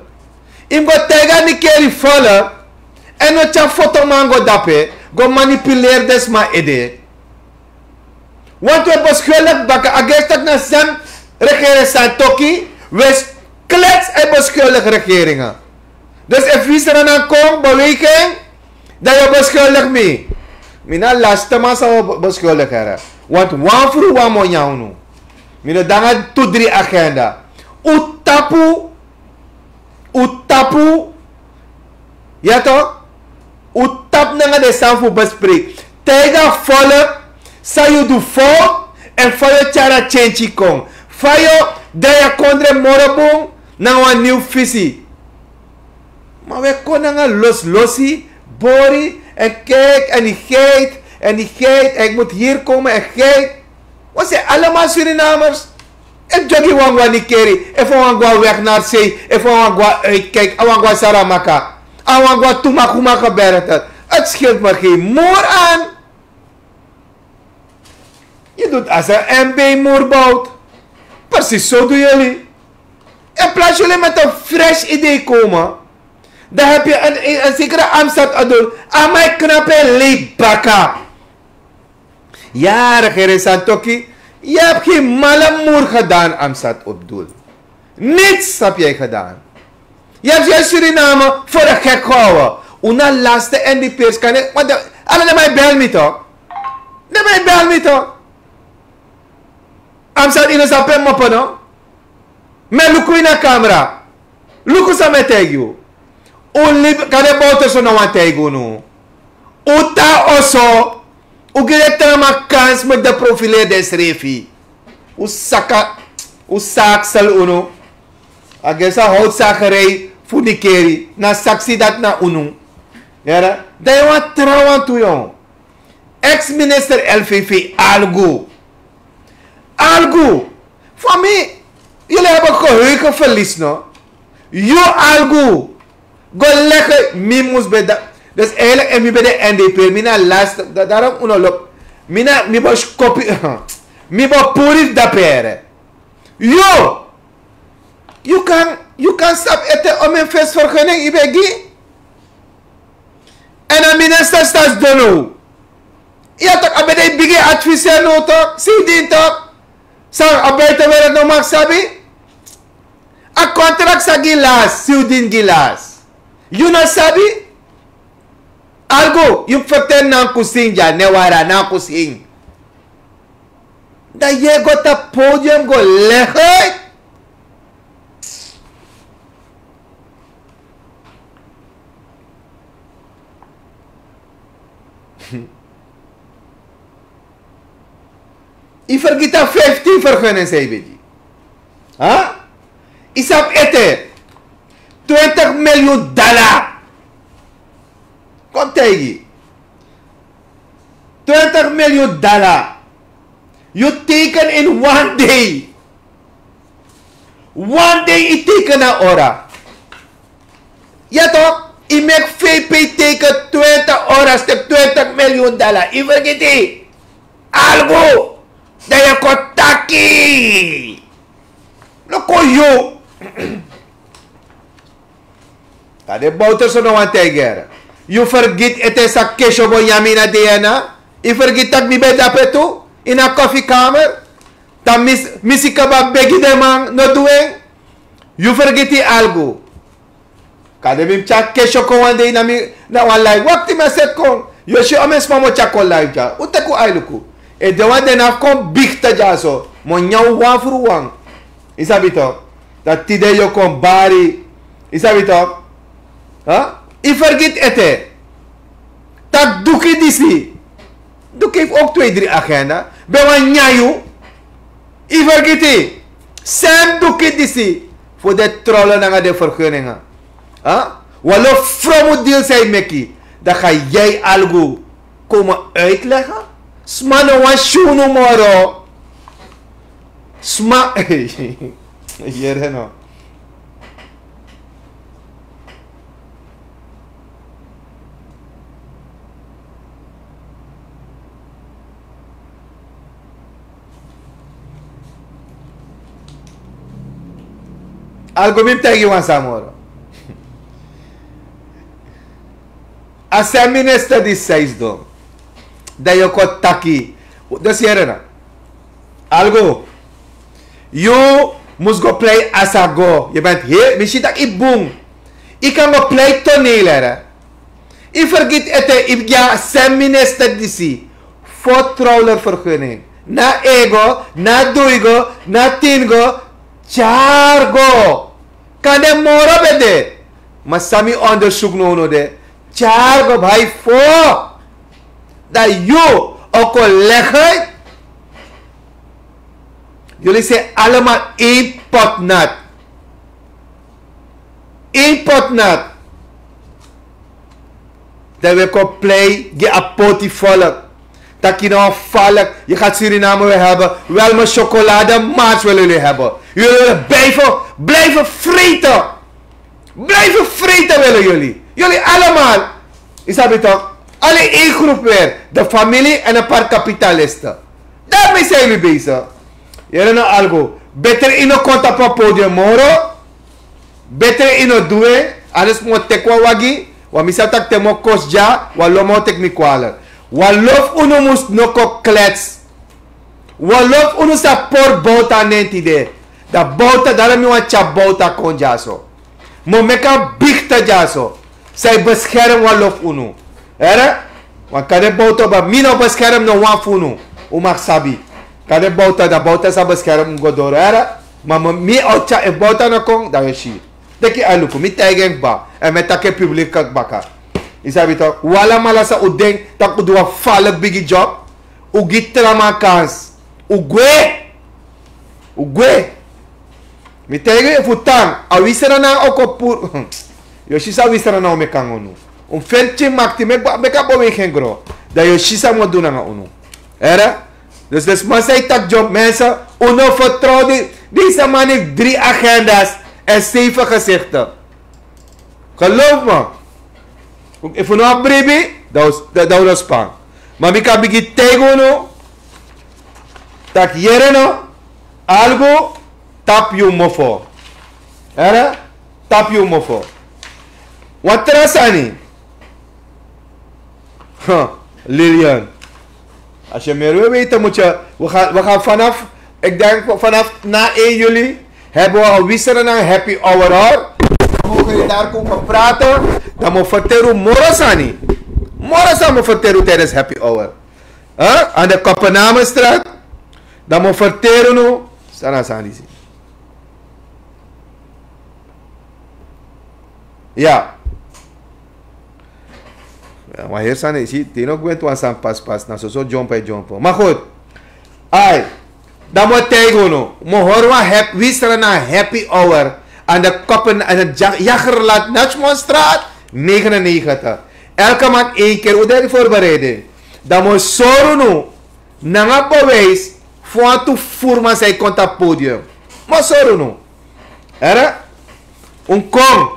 Yu mus go taigi a Nikeri volk. En no tyari fotoman go dape go manipuleri den sma ede. Want wi e beschuldig baka, a gersi taki na san regering Santoki, wi e klets e beschuldig regeringa. Dus efu wi sranan kon beweging, dan yu o beschuldig mi. Mi na laste man san wi o be-, beschuldig here. Want wan fru wan mo nyan unu. Mi no de nanga tu dri agenda. Un tapu, un tapu. Ya toch? Un tapu nanga den sani fu bespreek. Taigi a volk san yu du fout en fa yu o tyari a tyentyi kon. Fa yu o drai a kondre moro bun nanga wan nieuw visie. Maar wi e kon nanga loslosi, bori, en kijk, en die geit, en die geit, en ik moet hier komen, en geit. Wi zijn allemaal Surinamers. Efu Jogi wani go na Nikeri, efu a wani go na Weg naar Zee, efu a wani go na Uitkijk, a wani go na Saramaka, a wani go na Tumakuma gebergte. Het scheelt me geen moer aan. Je doet als een M B moerbouwt. Precies zo doen jullie. In plaats jullie met een fresh idee komen. Dan heb je een, een, een zekere Amsat Abdul. Amai knappe leibaka. Ja, regering Santoki. Je hebt geen malle moer gedaan, Amsat Abdul. Niets heb jij gedaan. Je hebt je Suriname voor de gek gehouden. Una laatste en die pers kan ik. Want de, alle de mij bel me toch? De mij bel me toch? Amsat ino sape mopo no. Me luku ina camera. Luku san mi e taigi yu. Un libi kande bowterso no wani taigi unu. Un tan oso. Un gi den tra man kans meki den profileri densrefi. Un saka. Un saksel unu. A gi san howtu sagerei fu nikeri na saksi dati na unu. Yere. Dan yu wani trawan tu yon. Ex-minister L V V Algu. Algu. Fa mi, yuli heben geheugenverlies no. Yu Algu. Go lege mi mus ben da. Dus eigenlijk en mi ben de N D P mi na last. Daarom unu lobi. Mi na mi bo skopi. Mi bo puri dapere. Yu. Yu kan, yu kan sabi ete omen fesi vergunning yu ben gi. En a minister stadsdonu. Ya tok a ben de bigi adviser no tok, sidin tok. San a buitenwereld no mag sabi. A contract sa gi las, sidin gi las. Yu no sabi. Algu yu ferten nan kusin ya ne wara nan kusin. Dan yu e go tapu podium go legi. Yu fergiti a fiftin fergunning san yu ben gi. Ha? Yu sabi ete. Twintig miljoen dala. Kon taigi. Twintig miljoen dala. Yu teken in one day. One day yu teken na ora. Ya tok, yu meki V P teken twintig ora stik twintig miljoen dala. Yu fergiti. Algu. Dan yu kon taki. No kon yu. Kande bowterso no wani taigi. Yu fergiti ete san kesho bo yami na D N A. Yu fergiti tak' mi ben dape tu. Ini a kofikamer. Dan mi si kaba begi den man no du en. Yu fergiti Algu. Kande mi mus tyari kesho kon wan dei na mi na wan live. Wakti mi a seti kon. Yu o si omen sma mi o tyari kon live dya. Un teki un ai luku. Efu den wan de na fu kon bigte dyaso mi o nyan un wan furu wan. Yu sabi tok. Dan tide yu o kon bari. Yu sabi tok. Yu fergiti ete. Tak' duki disi. Duki fu ouk twee dri agenda ben wani nyan yu. Yu fergiti. Sem duki disi. Fu den trolo nanga den ferguninga. Wan lo fromu dil san yu meki. Dan ga yu Algu komen uitleggen. Sma no wani si unu moro. Sma. Yere no. Algu mi mus taigi wan sani moro. A san minister disi sai sidon. Dan yu o kon taki. Dus yere na. Algu. Yu mus go plei asago. Yu ben he mi si tak' yu bun. Yu kan go plei toneel here. Yu fergiti ete yu gi a san minister disi. Fo trouwler ferguning. Na ego, na duigo, na tingo. Tyari go. Kande moro ben de. Ma san mi ondersuku now no de. Tyari go bai fo. Dan yu o kon legi. Yuli se alama in potnat. In potnat. Dan wi e kon plei gi a poti volk. Taki na wan volk. Yu gati Suriname wi e heben. Wel mi syokolade mars wili yuli heben. Yuli wili blife blife frite. Blife frite wili yuli. Yuli alama. Yu sabi tok. Ala in grupu weri. De famili èn a par kapitaliste. Darmi san yu mi beisi. Yere no algu. Betre yu no kon tapu a podium moro. Betre yu no du en. Anders mi o teki wan wagi, wan mi sabi tak' te mi o kosi dya, wan lo mi o teki mi kwalik. Wan lo fu unu mus no kon klets. Wan lo fu unu sa pori bowta nen tide. Dan bowta, daro mi wani tyari bowta kon dyaso. Mi o meki a bigte dyaso. San e beskerm wan lo fu unu. Here? Wan kande bowta, ma mi no beskerm no wan fu unu. Un mag sabi. Kande bowta, dan bowta sa beskerm un go doro. Here? Ma mi, mi o tyari, efu bowta no kon, dan yu o si. Teki a luku, mi taigi en kba. Èn mi e taki en publik baka. Yu sabi tok, un alamala san un denki tak' un du wan falek bigi job. Un gi tra man kans. Un gwe. Un gwe. Mi taigi yu, efu un tan, a wi Sranan o kon puru. Yu o si san wi Sranan o meki nanga unu. Un feni pikin makti, meki a, meki a bow e gi en gron. Dan yu o si san mi o du nanga unu. Here? Dus den sma san e taki dyon, mensen, un no vertrouw di, deze man heeft drie agenda's en zeven gezichten. Geloof me. Efu un no abi bribi, dan un, dan, dan un no span. Ma mi kan bigin taigi unu, tak' yere no, algu, tapu yu mofo. Here? Tapu yu mofo. Wan tra sani. Huh, Lilian. Als je meer wil weten, moet je, we gaan, we gaan vanaf, ik denk vanaf na één juli hebben we een Wi Sranan happy hour, hoor. Dan mogen jullie daar komen praten. Dan mo verteren moro sani. Moro sani mo verteren tijdens happy hour. Huh? Aan de Kopenhamenstraat. Dan mo verteren no. Sana sani si. Ya. Ya, wan heri sani, yu si, te yu no gwenti wan sani paspasi, na soso dyompo e dyompo. Ma goed. Ai, dan mi o taigi unu, mi o hori wan hap-, Wi Sranan happy hour aan de Koppen-, aan de Ja-, Jagerland Nachmanstraat negenennegentig. Elke maand één keer, un de voorbereiding. Dan mi o sori unu nanga bewijs fu wantu furu man san e kon tapu podium. Mi o sori unu. Here? Un kon.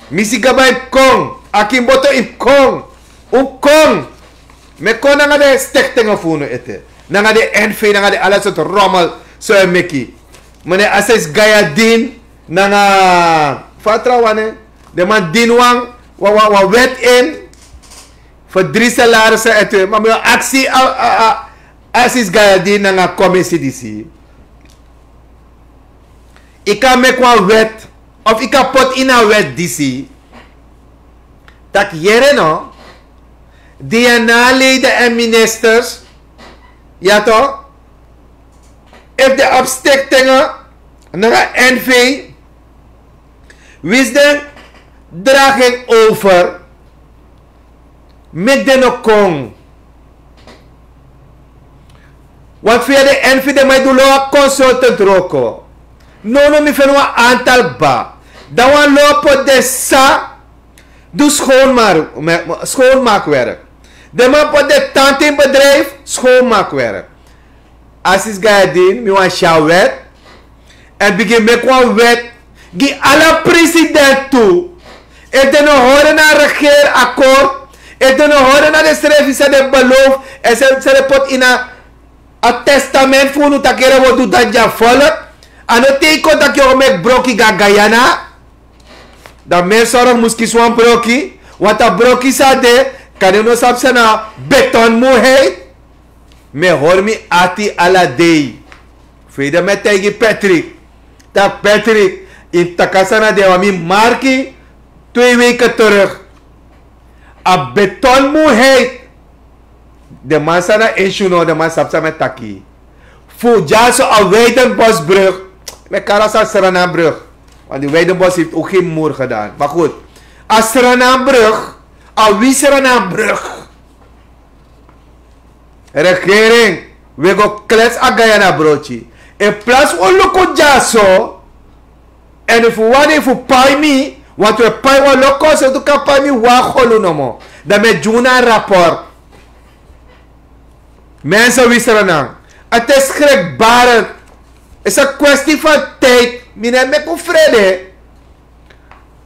Mi si kaba yu kon. Akin Boto yu kon. Un kon. Mi e kon nanga den stektengen fu unu ete. Nanga den N V, nanga den ala sortu rommel san un e meki. Meneer Assis Gayadin, nanga fa a trawan nen. Den man dini wan, wan, wan, wan wet in. Fu dri salarisi ete. Ma mi o aksi a, a, a, Assis Gayadin nanga commissie disi. Yu kan meki wan wet, of yu kan poti ini a wet disi. Tak' yere no, D N A-leden en ministers, ya toch, efu den abi stektengen nanga N V, winsi den dragi en over, meki den no kon. Want via den N V den man e du lo a consultant wroko. Nownow mi feni wan antal kba. Dan wan lo poti den sa du schoonmaak, me-, me-, schoonmaakwerk. Den man poti den tante in bedrijf, schoonmaakwerk. Assis Gayadin, mi wani si a wet. Èn bigin meki wan wet gi ala president tu. Efu den no hori na a regeerakkoord, efu den no hori na den srefi san den beloof, èn san, san den poti ini a testament fu unu taki yere wi o du dati gi a volk, a no teki kon taki yu o meki broki gi a Guyana. Dan mi e sorgu mus kisi wan broki, want a broki san de, kande un no sabi san na beton moeheid. Mi e hori mi ati ala dei. Fu ede mi e taigi Patrick. Taki Patrick, yu mus taki san na den wan mi marki twee weken terug. A beton moeheid. Den man san na issue no, den man sabi san mi e taki. Fu dyaso a Weidenbosbrug. Mi e kari a Srananbrug. Want die Weidenbos heeft ook geen moer gedaan. Maar goed. A Srananbrug. A wi Srananbrug. Regering, wi e go klets a Guyana broki. In plaats fu luku dyaso, èn efu wi wani fu pai mi, want wi e pai wan lo kosten, un kan pai mi wan golu nomo. Dan mi e gi unu a rapport. Mensen, wi Sranan. Het is schrikbarend. Het is een kwestie van tijd. Mi no e meki un frede.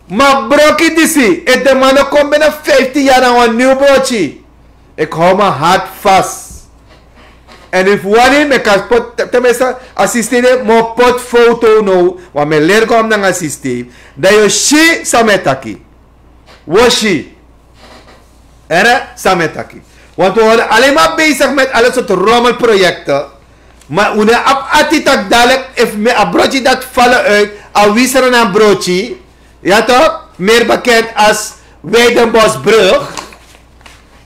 Ma broki disi, efu den man no kon binnen vijftien jaar na wan nieuw broki. Ik hou mijn hart vast. En efu wani mi kan poti, tenminste, a systeem de mi o poti foto now, want mi e leri kon nanga systeem. Dan yu o si san mi e taki. Wi o si. Ere, san mi e taki. Want wi worden alleen maar bezig met alle soort rommelprojecten. Maar unu abi ati taki dadelijk, efu mi a broodje dat vallen uit, a wisser na broodje. Ja toch? Meer bekend als Weidenbosbrug.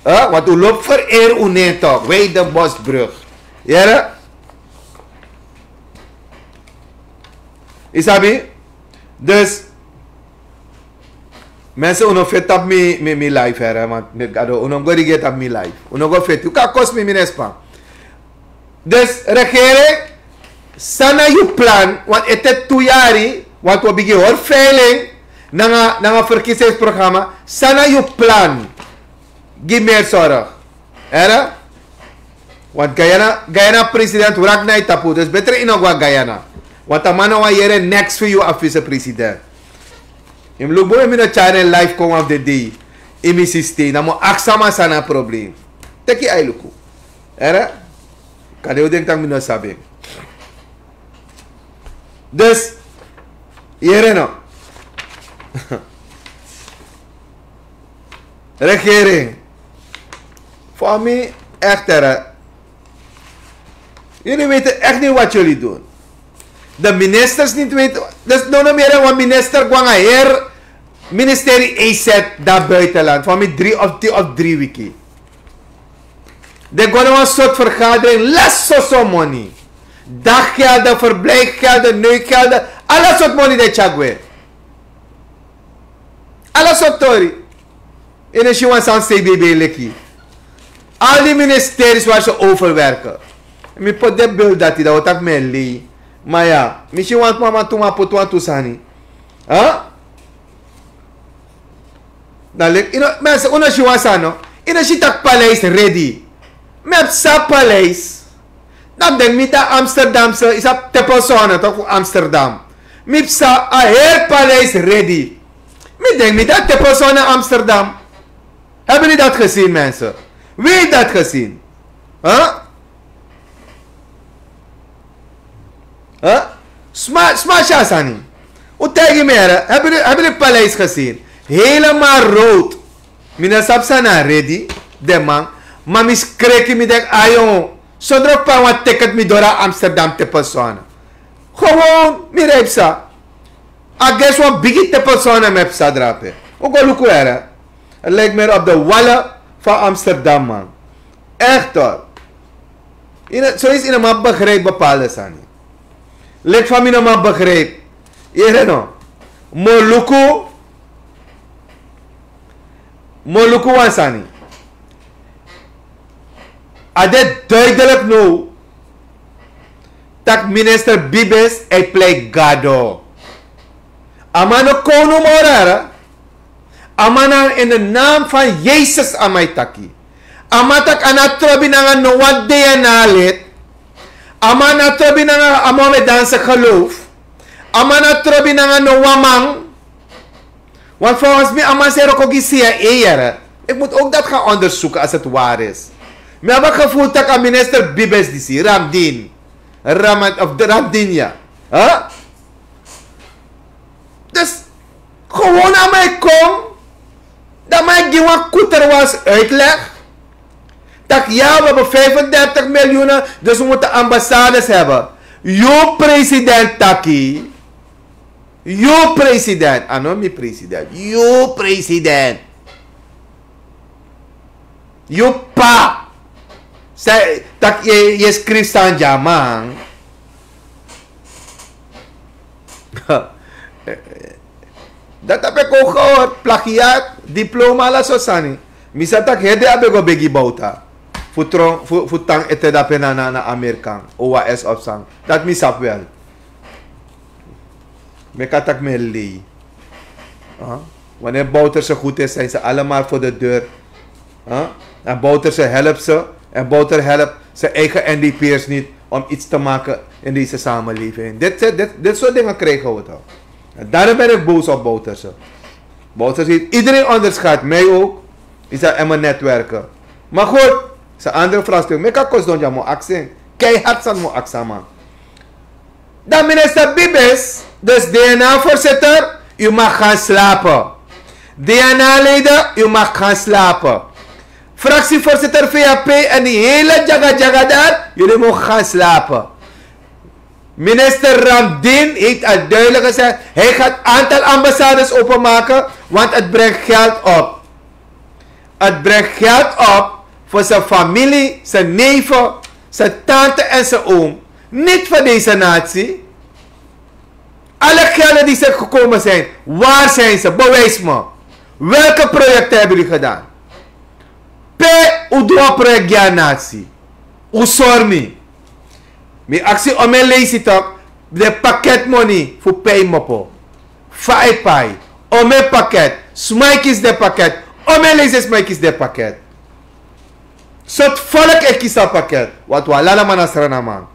Hè? Want u loopt vereer u neer toch? Weidenbosbrug. Yere? Isabi? Dus, mensen, unu fit op mi, mi, mi live, hè, want mi gado, unu go regeer op mi live. Unu go fit. U kan kost mi, mi nespa. Dus regering, san na yu plan, want ete tu yari, want wi bigin hori veiling nanga, nanga verkiezingsprogramma, san na yu plan? Gi mi zorg. Ere? Want Guyana, Guyana president wrak na yu tapu, dus beter yu no go na Guyana. Want a man no wani yere niks fu yu a vicepresident. Yu mus luku bun, mi no tyari en live kon wan fu den dei. Ini mi systeem, dan mi o aksi a man san na a probleem. Teki yu ai luku. Ere? Kande yu denki tak' mi no sabi en. Dus, yere no. Regering. Voor mi, echt, hè. Jullie weten echt niet wat jullie doen. De ministers niet weten. Dus no, no meer, want minister go nanga heri ministerie E Z dan buitenland. Voor mi drie of tien of drie wiki. Den go na wan soort vergadering, lasi soso moni. Daggelden, verblijfgelden, neukgelden, ala soort moni den tyari gwe. Ala soort tori. Yu no si wan sani C B B leki. Al die ministeries waar ze overwerken. Mi poti den beeld dati, dan wi taki mi e lei. Ma ya, mi si wan mama tu man poti wantu sani. Hè? Dan leki, yu no, mensen, unu si wan sani, no? Yu no si tak' paleis ready. Mi e psa paleis. Dan mi denki mi taki Amsterdamse, yu sabi, Tepelzone, toch, fu Amsterdam. Mi psa a heri paleis ready. Mi denki mi taki Tepelzone Amsterdam. Hebben jullie dat gezien, mensen? Wie heeft dat gezien? Hè? Hè? Sma, sma si a sani. Un taigi mi, hè, hebben jullie, hebben jullie paleis gezien? Helemaal rood. Mi no sabi san na ready, den man. Ma mi skreki, mi denki, ayo, sondro pe wan ticket mi doro na Amsterdam Tepelzone. Gewoon, mi rij psa. A gesi wan bigi Tepelzone mi e psa drape. Un go luku, hè. Het lijkt meer op de wallen van Amsterdam, man. Echt, hoor. Yu no, zoiets, yu no man begrijp bepaalde sani. Leki fa mi no man begrijp. Yere no. Mi o luku. Mi o luku wan sani. A de duidelijk now. Tak' minister Bibes e plei gado. A man no kownu moro, hè. A man na in de naam van Yesus a man e taki. A man taki a no trobi nanga no wan D N A lid. A man no trobi nanga a Mohammedaanse geloof. A man no trobi nanga no wan man. Want volgens mi a man seri o kon gi C I A, yere. Ik moet ook dat gaan onderzoeken als het waar is. Mi abi a gevoel tak' a minister Bibes disi, Ramdin. Ramat, of de Ramdin, ya. Hè? Dus, gewoon a man e kon. Dan a man e gi wan koeterwans uitleg. Tak' ya, we hebben vijfendertig miljoen, dus we moeten ambassades hebben. Yu president taki. Yu president. A no mi president. Yu president. Yu pa. San, tak' yu, yu e skrifi sani gi a man. Dati a ben kon gehoord, plagiaat, diploma, ala so sani. Mi sa taki heri dei a ben go begi Bouta fu tron, fu, fu tan ete dape na, na, na Amerikan, O A S of san. Dati mi sabi wel. Meki a taki mi e lei. Huh? Wanneer Bouterse goed is, zijn ze allemaal voor de deur. Huh? En Bouterse helpt ze. En Bouter helpt zijn eigen N D P'ers niet om iets te maken in deze samenleving. Dit, dit, dit soort dingen krijgen we toch. En daarom ben ik boos op Bouterse. Bouterse heeft iedereen onderschat, mij ook. Is dat in mijn netwerken. Maar goed, San andere vraag stel meki a kosdon dya mo aksen. Keihard san mo aksaman. Dan minister Bibis, dus DNA voorzitter, u mag gaan slapen. DNA leden, u mag gaan slapen. Fractievoorzitter VHP en die hele djagadjaga daar, jullie mogen gaan slapen. Minister Ramdin heeft al duidelijk gezegd, hij gaat aantal ambassades openmaken, want het brengt geld op. Het brengt geld op voor zijn familie, zijn neven, zijn tante en zijn oom. Niet voor deze natie. Alle gelden die ze gekomen zijn, waar zijn ze? Bewijs me. Welke projecten hebben jullie gedaan? Pe un du a project gi a nasi. Un sori mi. Mi aksi ome leisi tok. Den paketmoni fu pei mopo. Fa e pai. Ome paket. Sma e kisi den paket. Ome leisi sma e kisi den paket. Sortu folk e kisi a paket. Watu a lala man a srana man.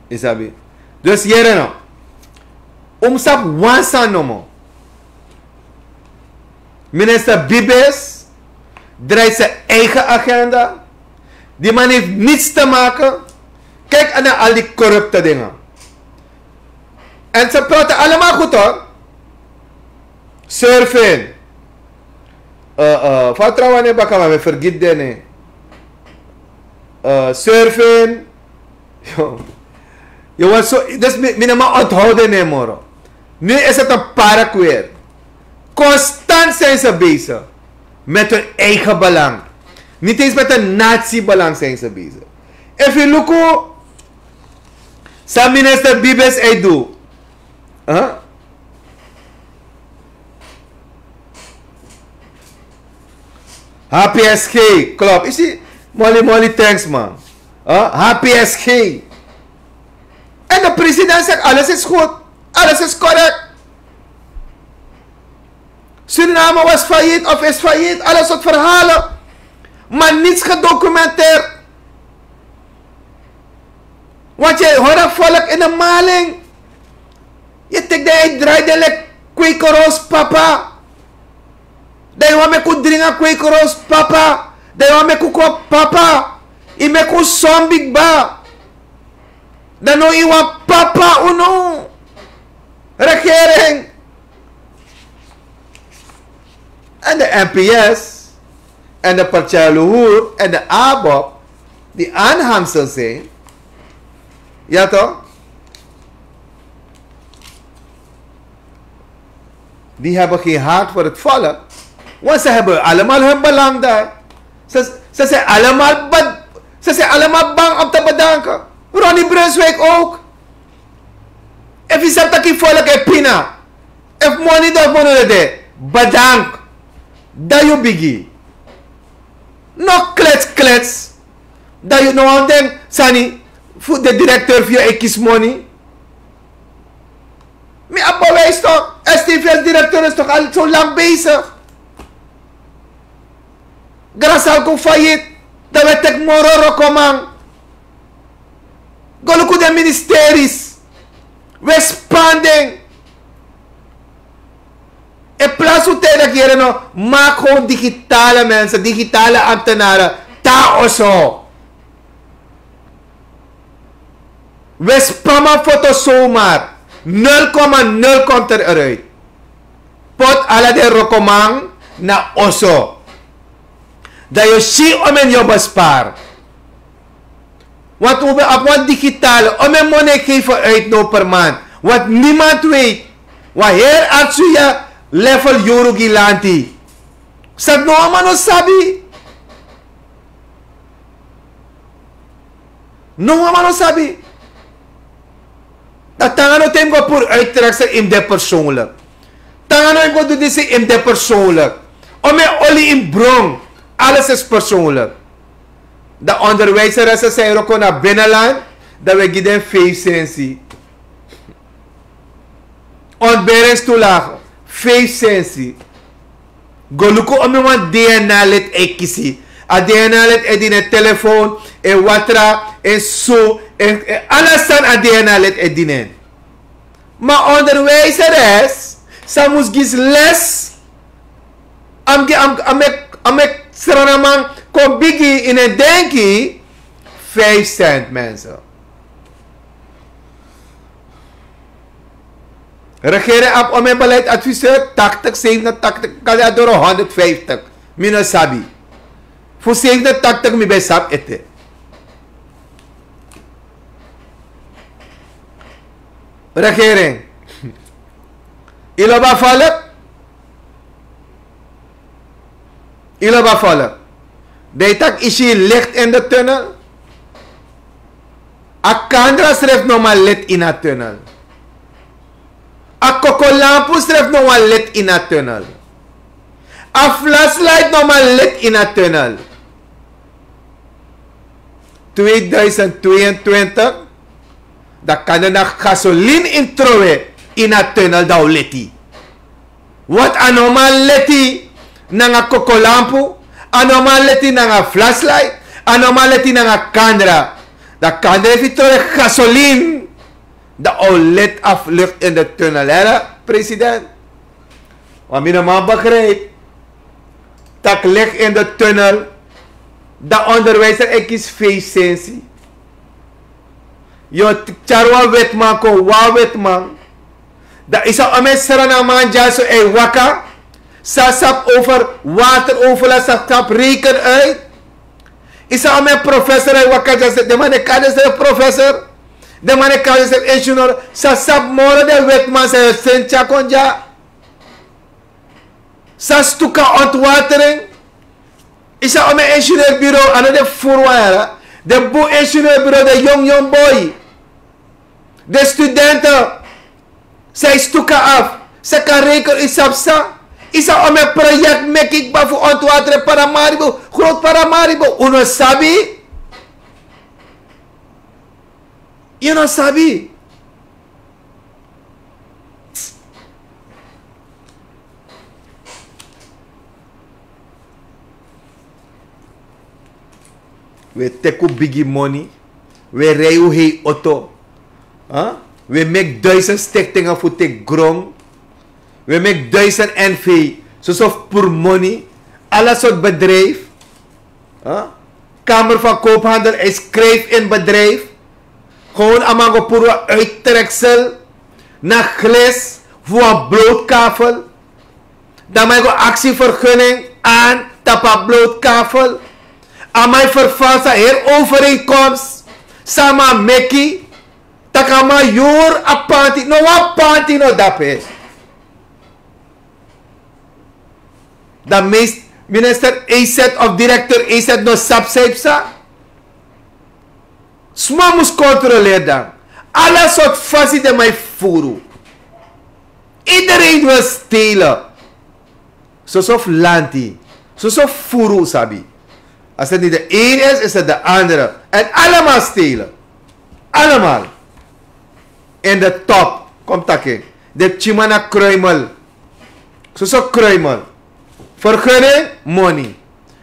Yu sabi? Dus yere no. Un mus sabi wan sani nomo. Minister Bibis draait zijn eigen agenda. Die man heeft niets te maken. Kijk naar al die corrupte dingen. En ze praten allemaal goed hoor. Surfing. Uh, uh, vertrouwen in Bakama, we vergiet den. Uh, surfing. Yo. Yo, wat zo, dus mi, mi na man onthouden ne moro. Nu is het een paraqueer. Constant zijn ze bezig met hun eigen belang. Niet eens met een natiebelang zijn ze bezig. If you look, san minister Bibis e du. Huh? H P S G, klopt. Yu si, Molly, Molly, thanks man. Huh? H P S G. En de president zegt alles is goed. Alles is correct. Suriname was failliet of is failliet. Alles soort verhalen. Maar niets gedocumenteerd. Want yu hori a volk in de maling. Yu teki den, yu drai den leki kwekeros papa. Dan yu wani meki un dringi a kwekeros papa. Dan yu wani meki un kon papa. Yu meki un son bigi kba. Dan now yu wani papa unu. Regering. En de N P S en de Partij Luhur en de ABOP, die aanhangsel zijn, ja toch? Die hebben geen hart voor het volk. Want ze hebben allemaal hun belang daar. Ze, ze zijn allemaal be-, ze zijn allemaal bang om te bedanken. Ronnie Brunswijk ook. Efu yu sabi taki yu folku e pina. Efu moni de of moni no de, bedank. Dan yu bigi. No klets klets. Dan yu no wan den sani fu de directeur fu yu e kisi moni. Mi abi bewijs toch. S T V's directeur is toch al zo lang bezig. Grasal kon failliet. Dan wi e teki moro wrokoman. Go luku den ministeris. Wi e span den. In plaats fu tijden yere no, maak gewoon digitale mensen, digitale ambtenaren. Tan oso. Wi e span man foto zomaar. Nul komma nul komt er eruit. Poti ala den wrokoman na oso. Dan yu si omeni yu o bespaar. Want wi ben abi wan digitale, omeni moni e geven uit now per maand. Want niemand weet. Wan heri Artsuya level yuru gi lanti. San no wan man no sabi. No wan man no sabi. Dan tanga no te yu mus go puru uittreksel, yu mus de persoonlijk. Tanga no yu mus go du disi, yu mus de persoonlijk. Omeni oli yu mus bron. Alles is persoonlijk. Dan onderwijzeressen san e wroko na binnenland, dan wi e gi den vijf sensi. Ontberingstoelage, vijf sensi. Go luku omeni wan D N A-lid e kisi. A D N A-lid e dini en telefoon, en watra, en su, en, en ala sani a D N A-lid e dini en. Ma onderwijzeres san mus gi les A mus gi, a mus, a mus meki, a mus meki Sranaman kon bigi ini en denki. Vijf cent, mensen. Regering abi omeni beleidsadviseur, tachtig, zevenentachtig, kan doro honderdvijftig. Mi no sabi. Fu zevenentachtig mi ben sabi ete. Regering. Yu lobi a volk? Yu lobi a volk? Dan yu taki yu si licht in de tunnel. A kandra srefi no man leti ini a tunnel. A kokolampu srefi no man leti ini a tunnel. A flashlight no man leti ini a tunnel. Tweeduizend tweeëntwintig, dan kan den na gasolin in trowe in a tunnel dan o leti. Want a no man leti nanga kokolampu, a no man leti nanga flashlight, a no man leti nanga kandra. Dan kandra efi trowe gasolin, dan o let af licht in de tunnel, hè, president. Want mi no man begrijp tak licht in de tunnel, dan onderwijzer e kisi feesensi. Yu o tyari wan wetman kon, wan wetman. Dan yu sa omen Sranaman dyaso e waka, sa sabi over water overlast, sa sabi reken uit. Yu sa omen professor e waka dyaso, den man e kari densrefi professor. Den man e kari densrefi ingenieur, sa sabi moro den wetman san yu o seni tyari kon dya. Sa stuka ontwatering. Yu sa omen ingenieurbureau, a no den furu wan yara. Den bun ingenieurbureau, den yong yong boi. Den studenten. San yu stuka af. San kan reken, yu sabi san. Yu sa omen project meki kba fu ontwatering Paramaribo. Groot Paramaribo. Un no sabi. Yu no sabi. Wi e teki un bigi moni. Wi e rei un hei oto. Wi e meki duisend stichtingen fu teki gron. Wi e meki duisend N V. Soso fu puru moni. Ala sortu bedrijf. Kamer van Koophandel, hij schrijft in bedrijf. Gewoon a man go puru wan uittreksel na glis fu wan blootkafel. Dan man go aksi vergunning aan tapu a blootkafel. A man vervalsi a heri overeenkomst san a man meki. Tak' a man yuru a panti, no wan panti no dape. Dan meest minister A Z of directeur A Z no sabi san yu psa. Sma mus kontroleri dan. Ala sortu fasi den man e furu. Iedereen wil stelen. Soso fu lanti. Soso fu furu, un sabi. Als het niet de een is, is het de andere. En allemaal stelen. Allemaal. In de top. Kom taki. Den pikinman na kruimel. Soso kruimel. Vergunning, moni.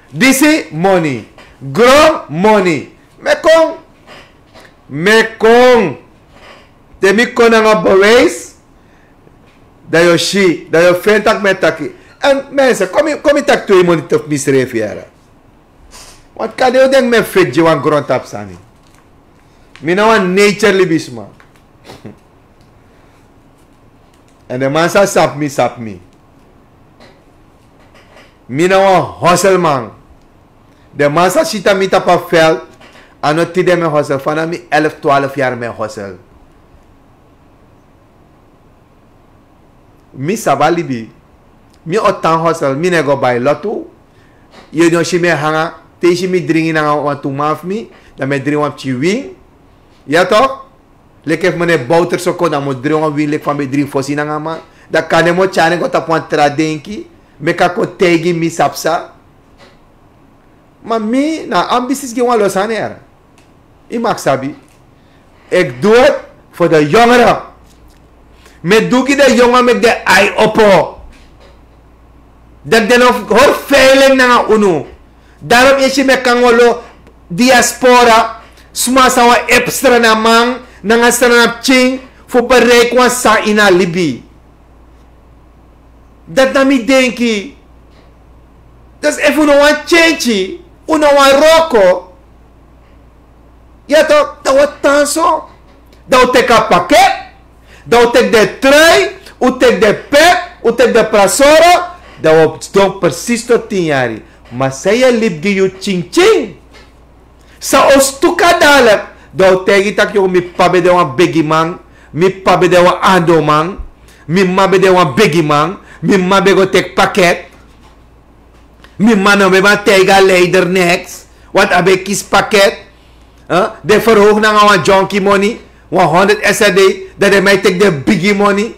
Disi, moni. Gron, moni. Mi e kon. Mi e kon. Te mi kon nanga bewijs, dan yu o si, dan yu o feni tak' mi e taki. En mensen, kon mi, kon mi taki twee minuten fu misrefi yara. Want kande yu o denki mi e feti gi wan grontapu sani. Mi na wan nature libisma. En den man san sabi mi, sabi mi. Mi na wan hosselman. Den man san si mi tapu a veld, a no tide mi e hossel, vanaf mi elf, twaalf yari mi e hossel. Mi sabi a libi. Mi o tan hossel, mi no e go bai lotu. Yu no si mi e hanga, te yu si mi dringi nanga wantu man fu mi, dan mi e dringi wan pikin win. Ya toch? Leki efu mi no e bowter so kon, dan mi o dringi wan win leki fa mi e dringi fosi nanga man. Dan kande mi o tyari en go tapu wan tra denki, meki a kon taigi mi sabi san. Ma mi na ambities gi wan lo sani yara. Yu mag sabi. Ik doe het voor de jongeren. Mi e du gi den yongeren, meki den ai opo. Dati den no hori feiling nanga unu. Daarom yu e si mi e kon nanga wan lo diaspora, sma san wani help Sranan man nanga Sranan pikin fu bereik wan sani ini a libi. Dati na mi denki. Dus efu un no wani tyentyi, un no wani wroko, ya tok, dan un o tan so. Dan un teki a paket, dan un teki den trui, un teki den pet, un teki den prasoro, dan un o sidon presis tot tin yari. Ma san yu e libi gi yu tyintyin? San o stuka dadilik? Dan un taigi yu tak' yu, mi p'pa ben de wan bigiman, mi p'pa ben de wan andoman, mi m'ma ben de wan bigiman, mi m'ma ben go teki paket. Mi m'ma no ben man taigi a leider niks, want a ben kisi paket. Den verhoog nanga wan dyonki moni, wan honderd srd, dan den man e teki den bigi moni.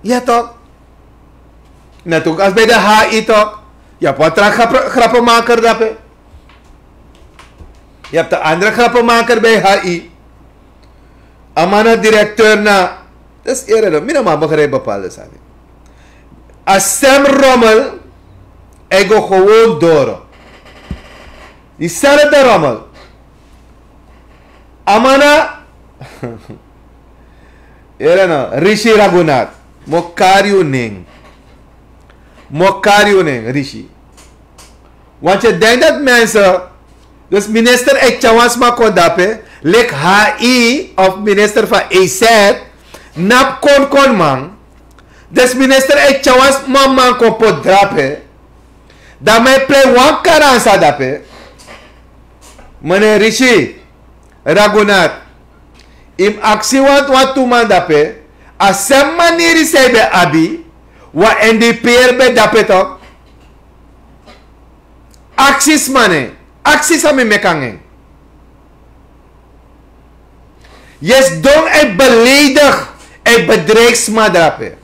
Ya tok. Net ook als bij de H I tok. Yu abi wan tra grappenmaker dape. Yu abi de andere grappenmaker bij H I. A man na directeur na. Dus eerder, mi no man begrijp bepaalde sani. A sem rommel, hij go gewoon door. Diezelfde rommel. A man na Here no, Rishi Ragunath. Mi o kari yu nen. Mi o kari yu nen, Rishi. Want yu denki dati mensen, dus minister e tyari wan sma kon dape, leki H I of minister van E Z, na pu kon kon man. Dus minister e tyari wan sma man kon poti drape. Dan mi e plei wan karansa dape. Meneer Rishi Ragunath, yu mus aksi wan, wan tu man dape, a sem maniri san yu ben abi, wan N D P'er ben dape tok. Aksi sma nen, aksi san mi meki nanga en. Yu e sidon e beledig, e bedreig sma drape.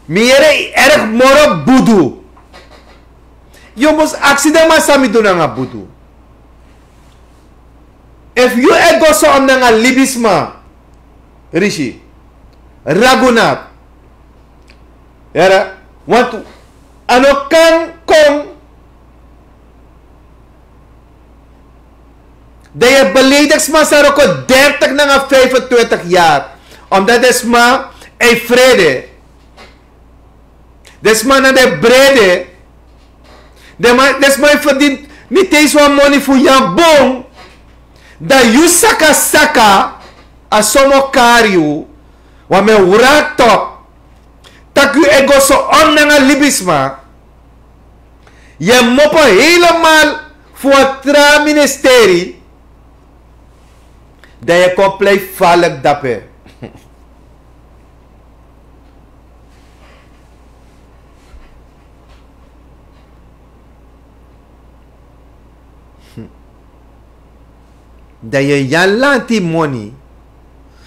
Mi yere yu erg moro budu. Yu mus aksi den man san mi du nanga budu. Efu yu e go so om nanga libisma, Rishi Ragunath, yere, want a no kan kon. Dan yu e beledig sma san wroko dertig nanga vijfentwintig yari. Omdat den sma e frede. Den sma na den brede. Den sma e ferdini niti eens wan moni fu yu a bun. Dan yu saka saka, a so mi o kari yu. Wan mi e wroko tok. Tak' yu e go so om nanga libisma. Yu e mopo helemaal fu wan tra ministeri. Dan yu e kon plei falek dape. Dan yu e nyan lanti moni.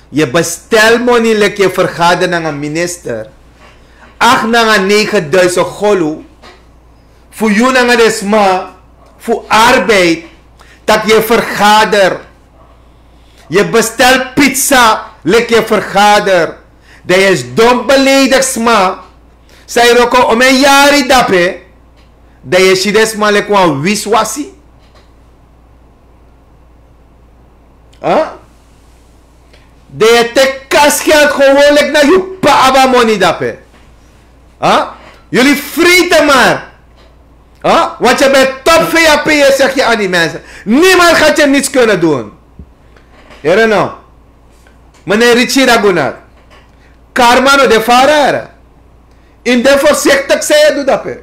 Yu e bestel moni leki yu e vergader nanga minister. Acht nanga negen duizend golu. Fu yu nanga den sma fu arbeid. Tak' yu e vergader. Yu e bestel pizza leki yu e vergader. Dan yu e sidon beledig sma san yu wroko omeni yari dape. Dan yu e si den sma leki wan wiswasi. Dan yu e teki kasgeld gewoon leki na yu p'pa abi a moni dape. Jullie vreten maar. Want je bent top V A P, je zegt je aan die mensen. Niemand gaat je niets kunnen doen. Here no. Meneer Richie Ragunath. Karma no de fara here. Yu de voorzichtig san yu e du dape.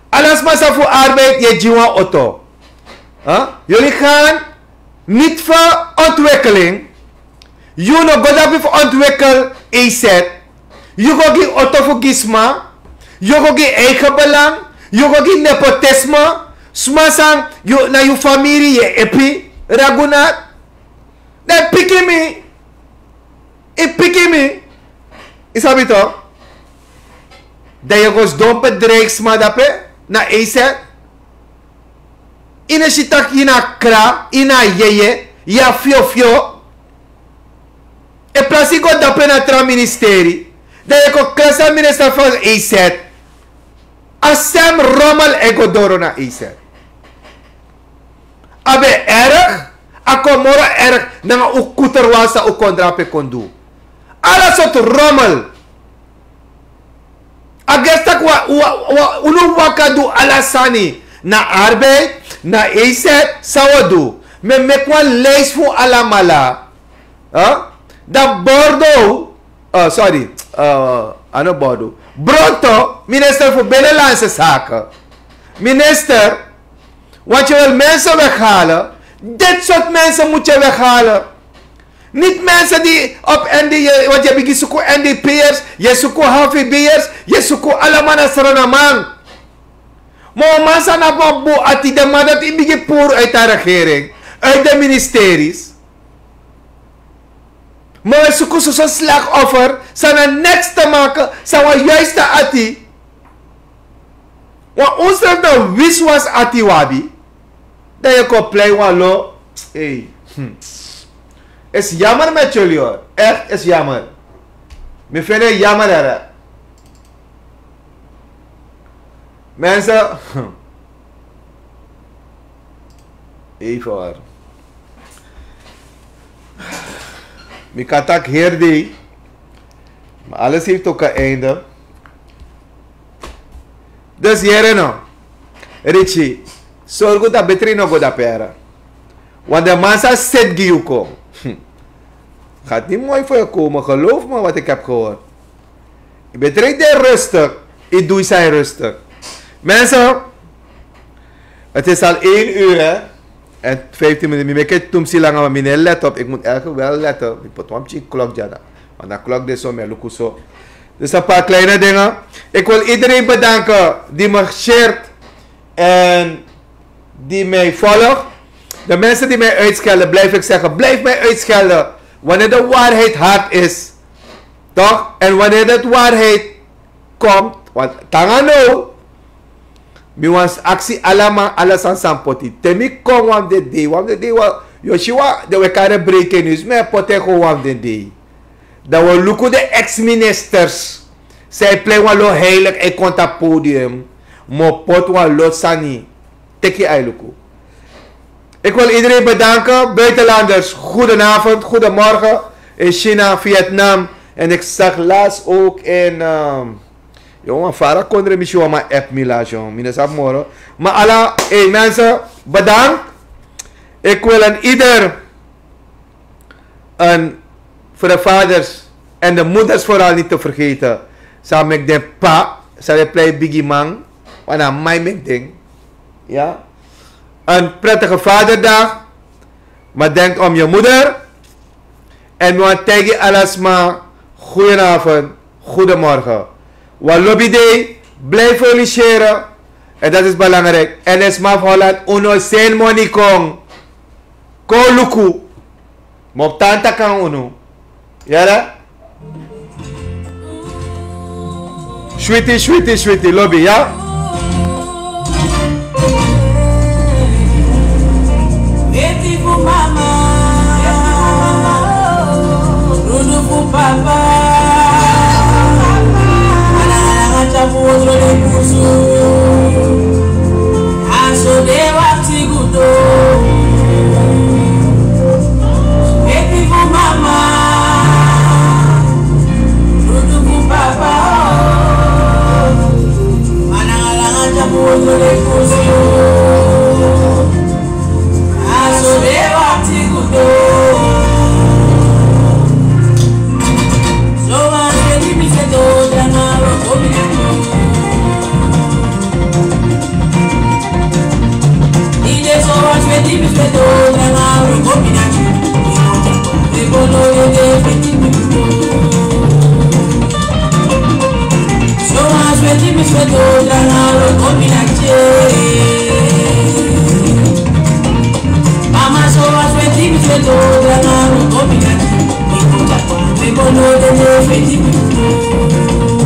Ala sma san fu arbeid yu e gi wan oto. Jullie gaan niet voor ontwikkeling. Yu no go dape fu ontwikkel E Z. Yu go gi oto fu gi sma. Yu go gi eigen belang. Yu go gi nepotisme. Sma san na yu famiri yu e epi. Ragunath. Dan yu piki mi. Yu piki mi. Yu sabi tok. Dan yu go sidon bedreig sma dape na E Z. Yu no si tak' yu na kra, yu na yeye, yu a fiofio. In plasi yu go dape na tra ministeri, dan yu kon krasi a minister van E Z. A sem rommel e go doro na E Z. A ben erg, A kon moro erg nanga un kuter wan san un kon drape kon du. Ala sortu rommel. A gesta wan wan wan unu waka du ala sani. Na arbeid, na eset, san wan du. Mi e meki wan lijst fu alamala. Dan bordo. Sorry. A no bordo. Bronto minister fu binnenlandse zaken. Minister. Want je wil mensen weghalen. Dit soort mensen moet je weghalen. Niet mensen die op N D, want je begint zoeken N D P'ers, je zoekt H V B'ers, je zoekt allemaal naar Sranamang. Maar mama sana van boe ati de man dat in begin poer uit de regering, uit de ministeries. Maar we zoeken zo'n slachtoffer, sana niks te maken, sana juiste ati. Wan onsrefi na wiswas ati wabi. Dan je kon plei wan lo. Hey. Is jammer met jullie hoor. Echt is jammer. Mi vind het jammer, hè. Mensen. Even hoor. Mi kan taki heri dei. Maar alles heeft ook een einde. Dus yere no. Richie, sorgu dat betri no go dapere. Want de man sa set gi yu kon. Gaat niet mooi voor je komen, geloof me wat ik heb gehoord. Je bent direct rustig. Je doet zijn rustig. Mensen, het is al één uur, hè. En vijftien minuten. Mi meki tumsi langa, maar mi no e let op. Ik moet eigenlijk wel letten. Mi poti wan pikin klok dya. Want dan klok disi so, mi e luku so. Dus een paar kleine dingen. Ik wil iedereen bedanken die me shared en die mij volgt. De mensen die mij uitschelden, blijf ik zeggen, blijf mij uitschelden. Wanneer de waarheid hard is. Toch? En wanneer de waarheid komt, want tanga no. Mi wani aksi ala man, ala sani san poti. Te mi kon wan fu den dei, wan fu den dei wan, yu o si wan, den we kari en breaking news, mi e poti en go wan fu den dei. Dan wi o luku den ex-ministers. San e plei wan lo heilig, e kon tapu podium. Mi o poti wan lo sani. Teki a e luku. Ik wil iedereen bedanken. Buitenlanders, goedenavond, goedemorgen. In China, Vietnam. En ik zag laatst ook in, ehm, Yo, wan fara kondre, mi si wan man app mi lasi, yo. Mi no sabi moro. Maar ala, hey mensen, bedankt. Ik wil aan ieder, en voor de vaders en de moeders vooral niet te vergeten. San meki den pa, san de plei bigi man, want na man meki den. Ja. Een prettige vaderdag. Maar denk om je moeder. En mi wani taigi ala sma, goedenavond, goedemorgen. Wan lobi dei, blijf feliciteren. En dat is belangrijk. En den sma fu Holland, unu o seni moni kon. Kon luku. Mi o tan taki nanga unu. Yere? Switi, switi, switi, lobi, ya? Eti fu mama, rudu fu papa, ana ana tapu otro le kusu. Aso de wakti gudo. Eti fu mama, rudu fu papa. Ana ana tapu otro le kusu. Aso de wakti gudo. So wan sweti mi sweti o danga ro komi na. Ide so wan sweti mi sweti o danga ro komi na. Iko no de de sweti mi sweti. So wan sweti mi sweti o danga ro komi na. Mama, so wan sweti mi sweti o danga ro komi na. Iko no de de sweti mi sweti.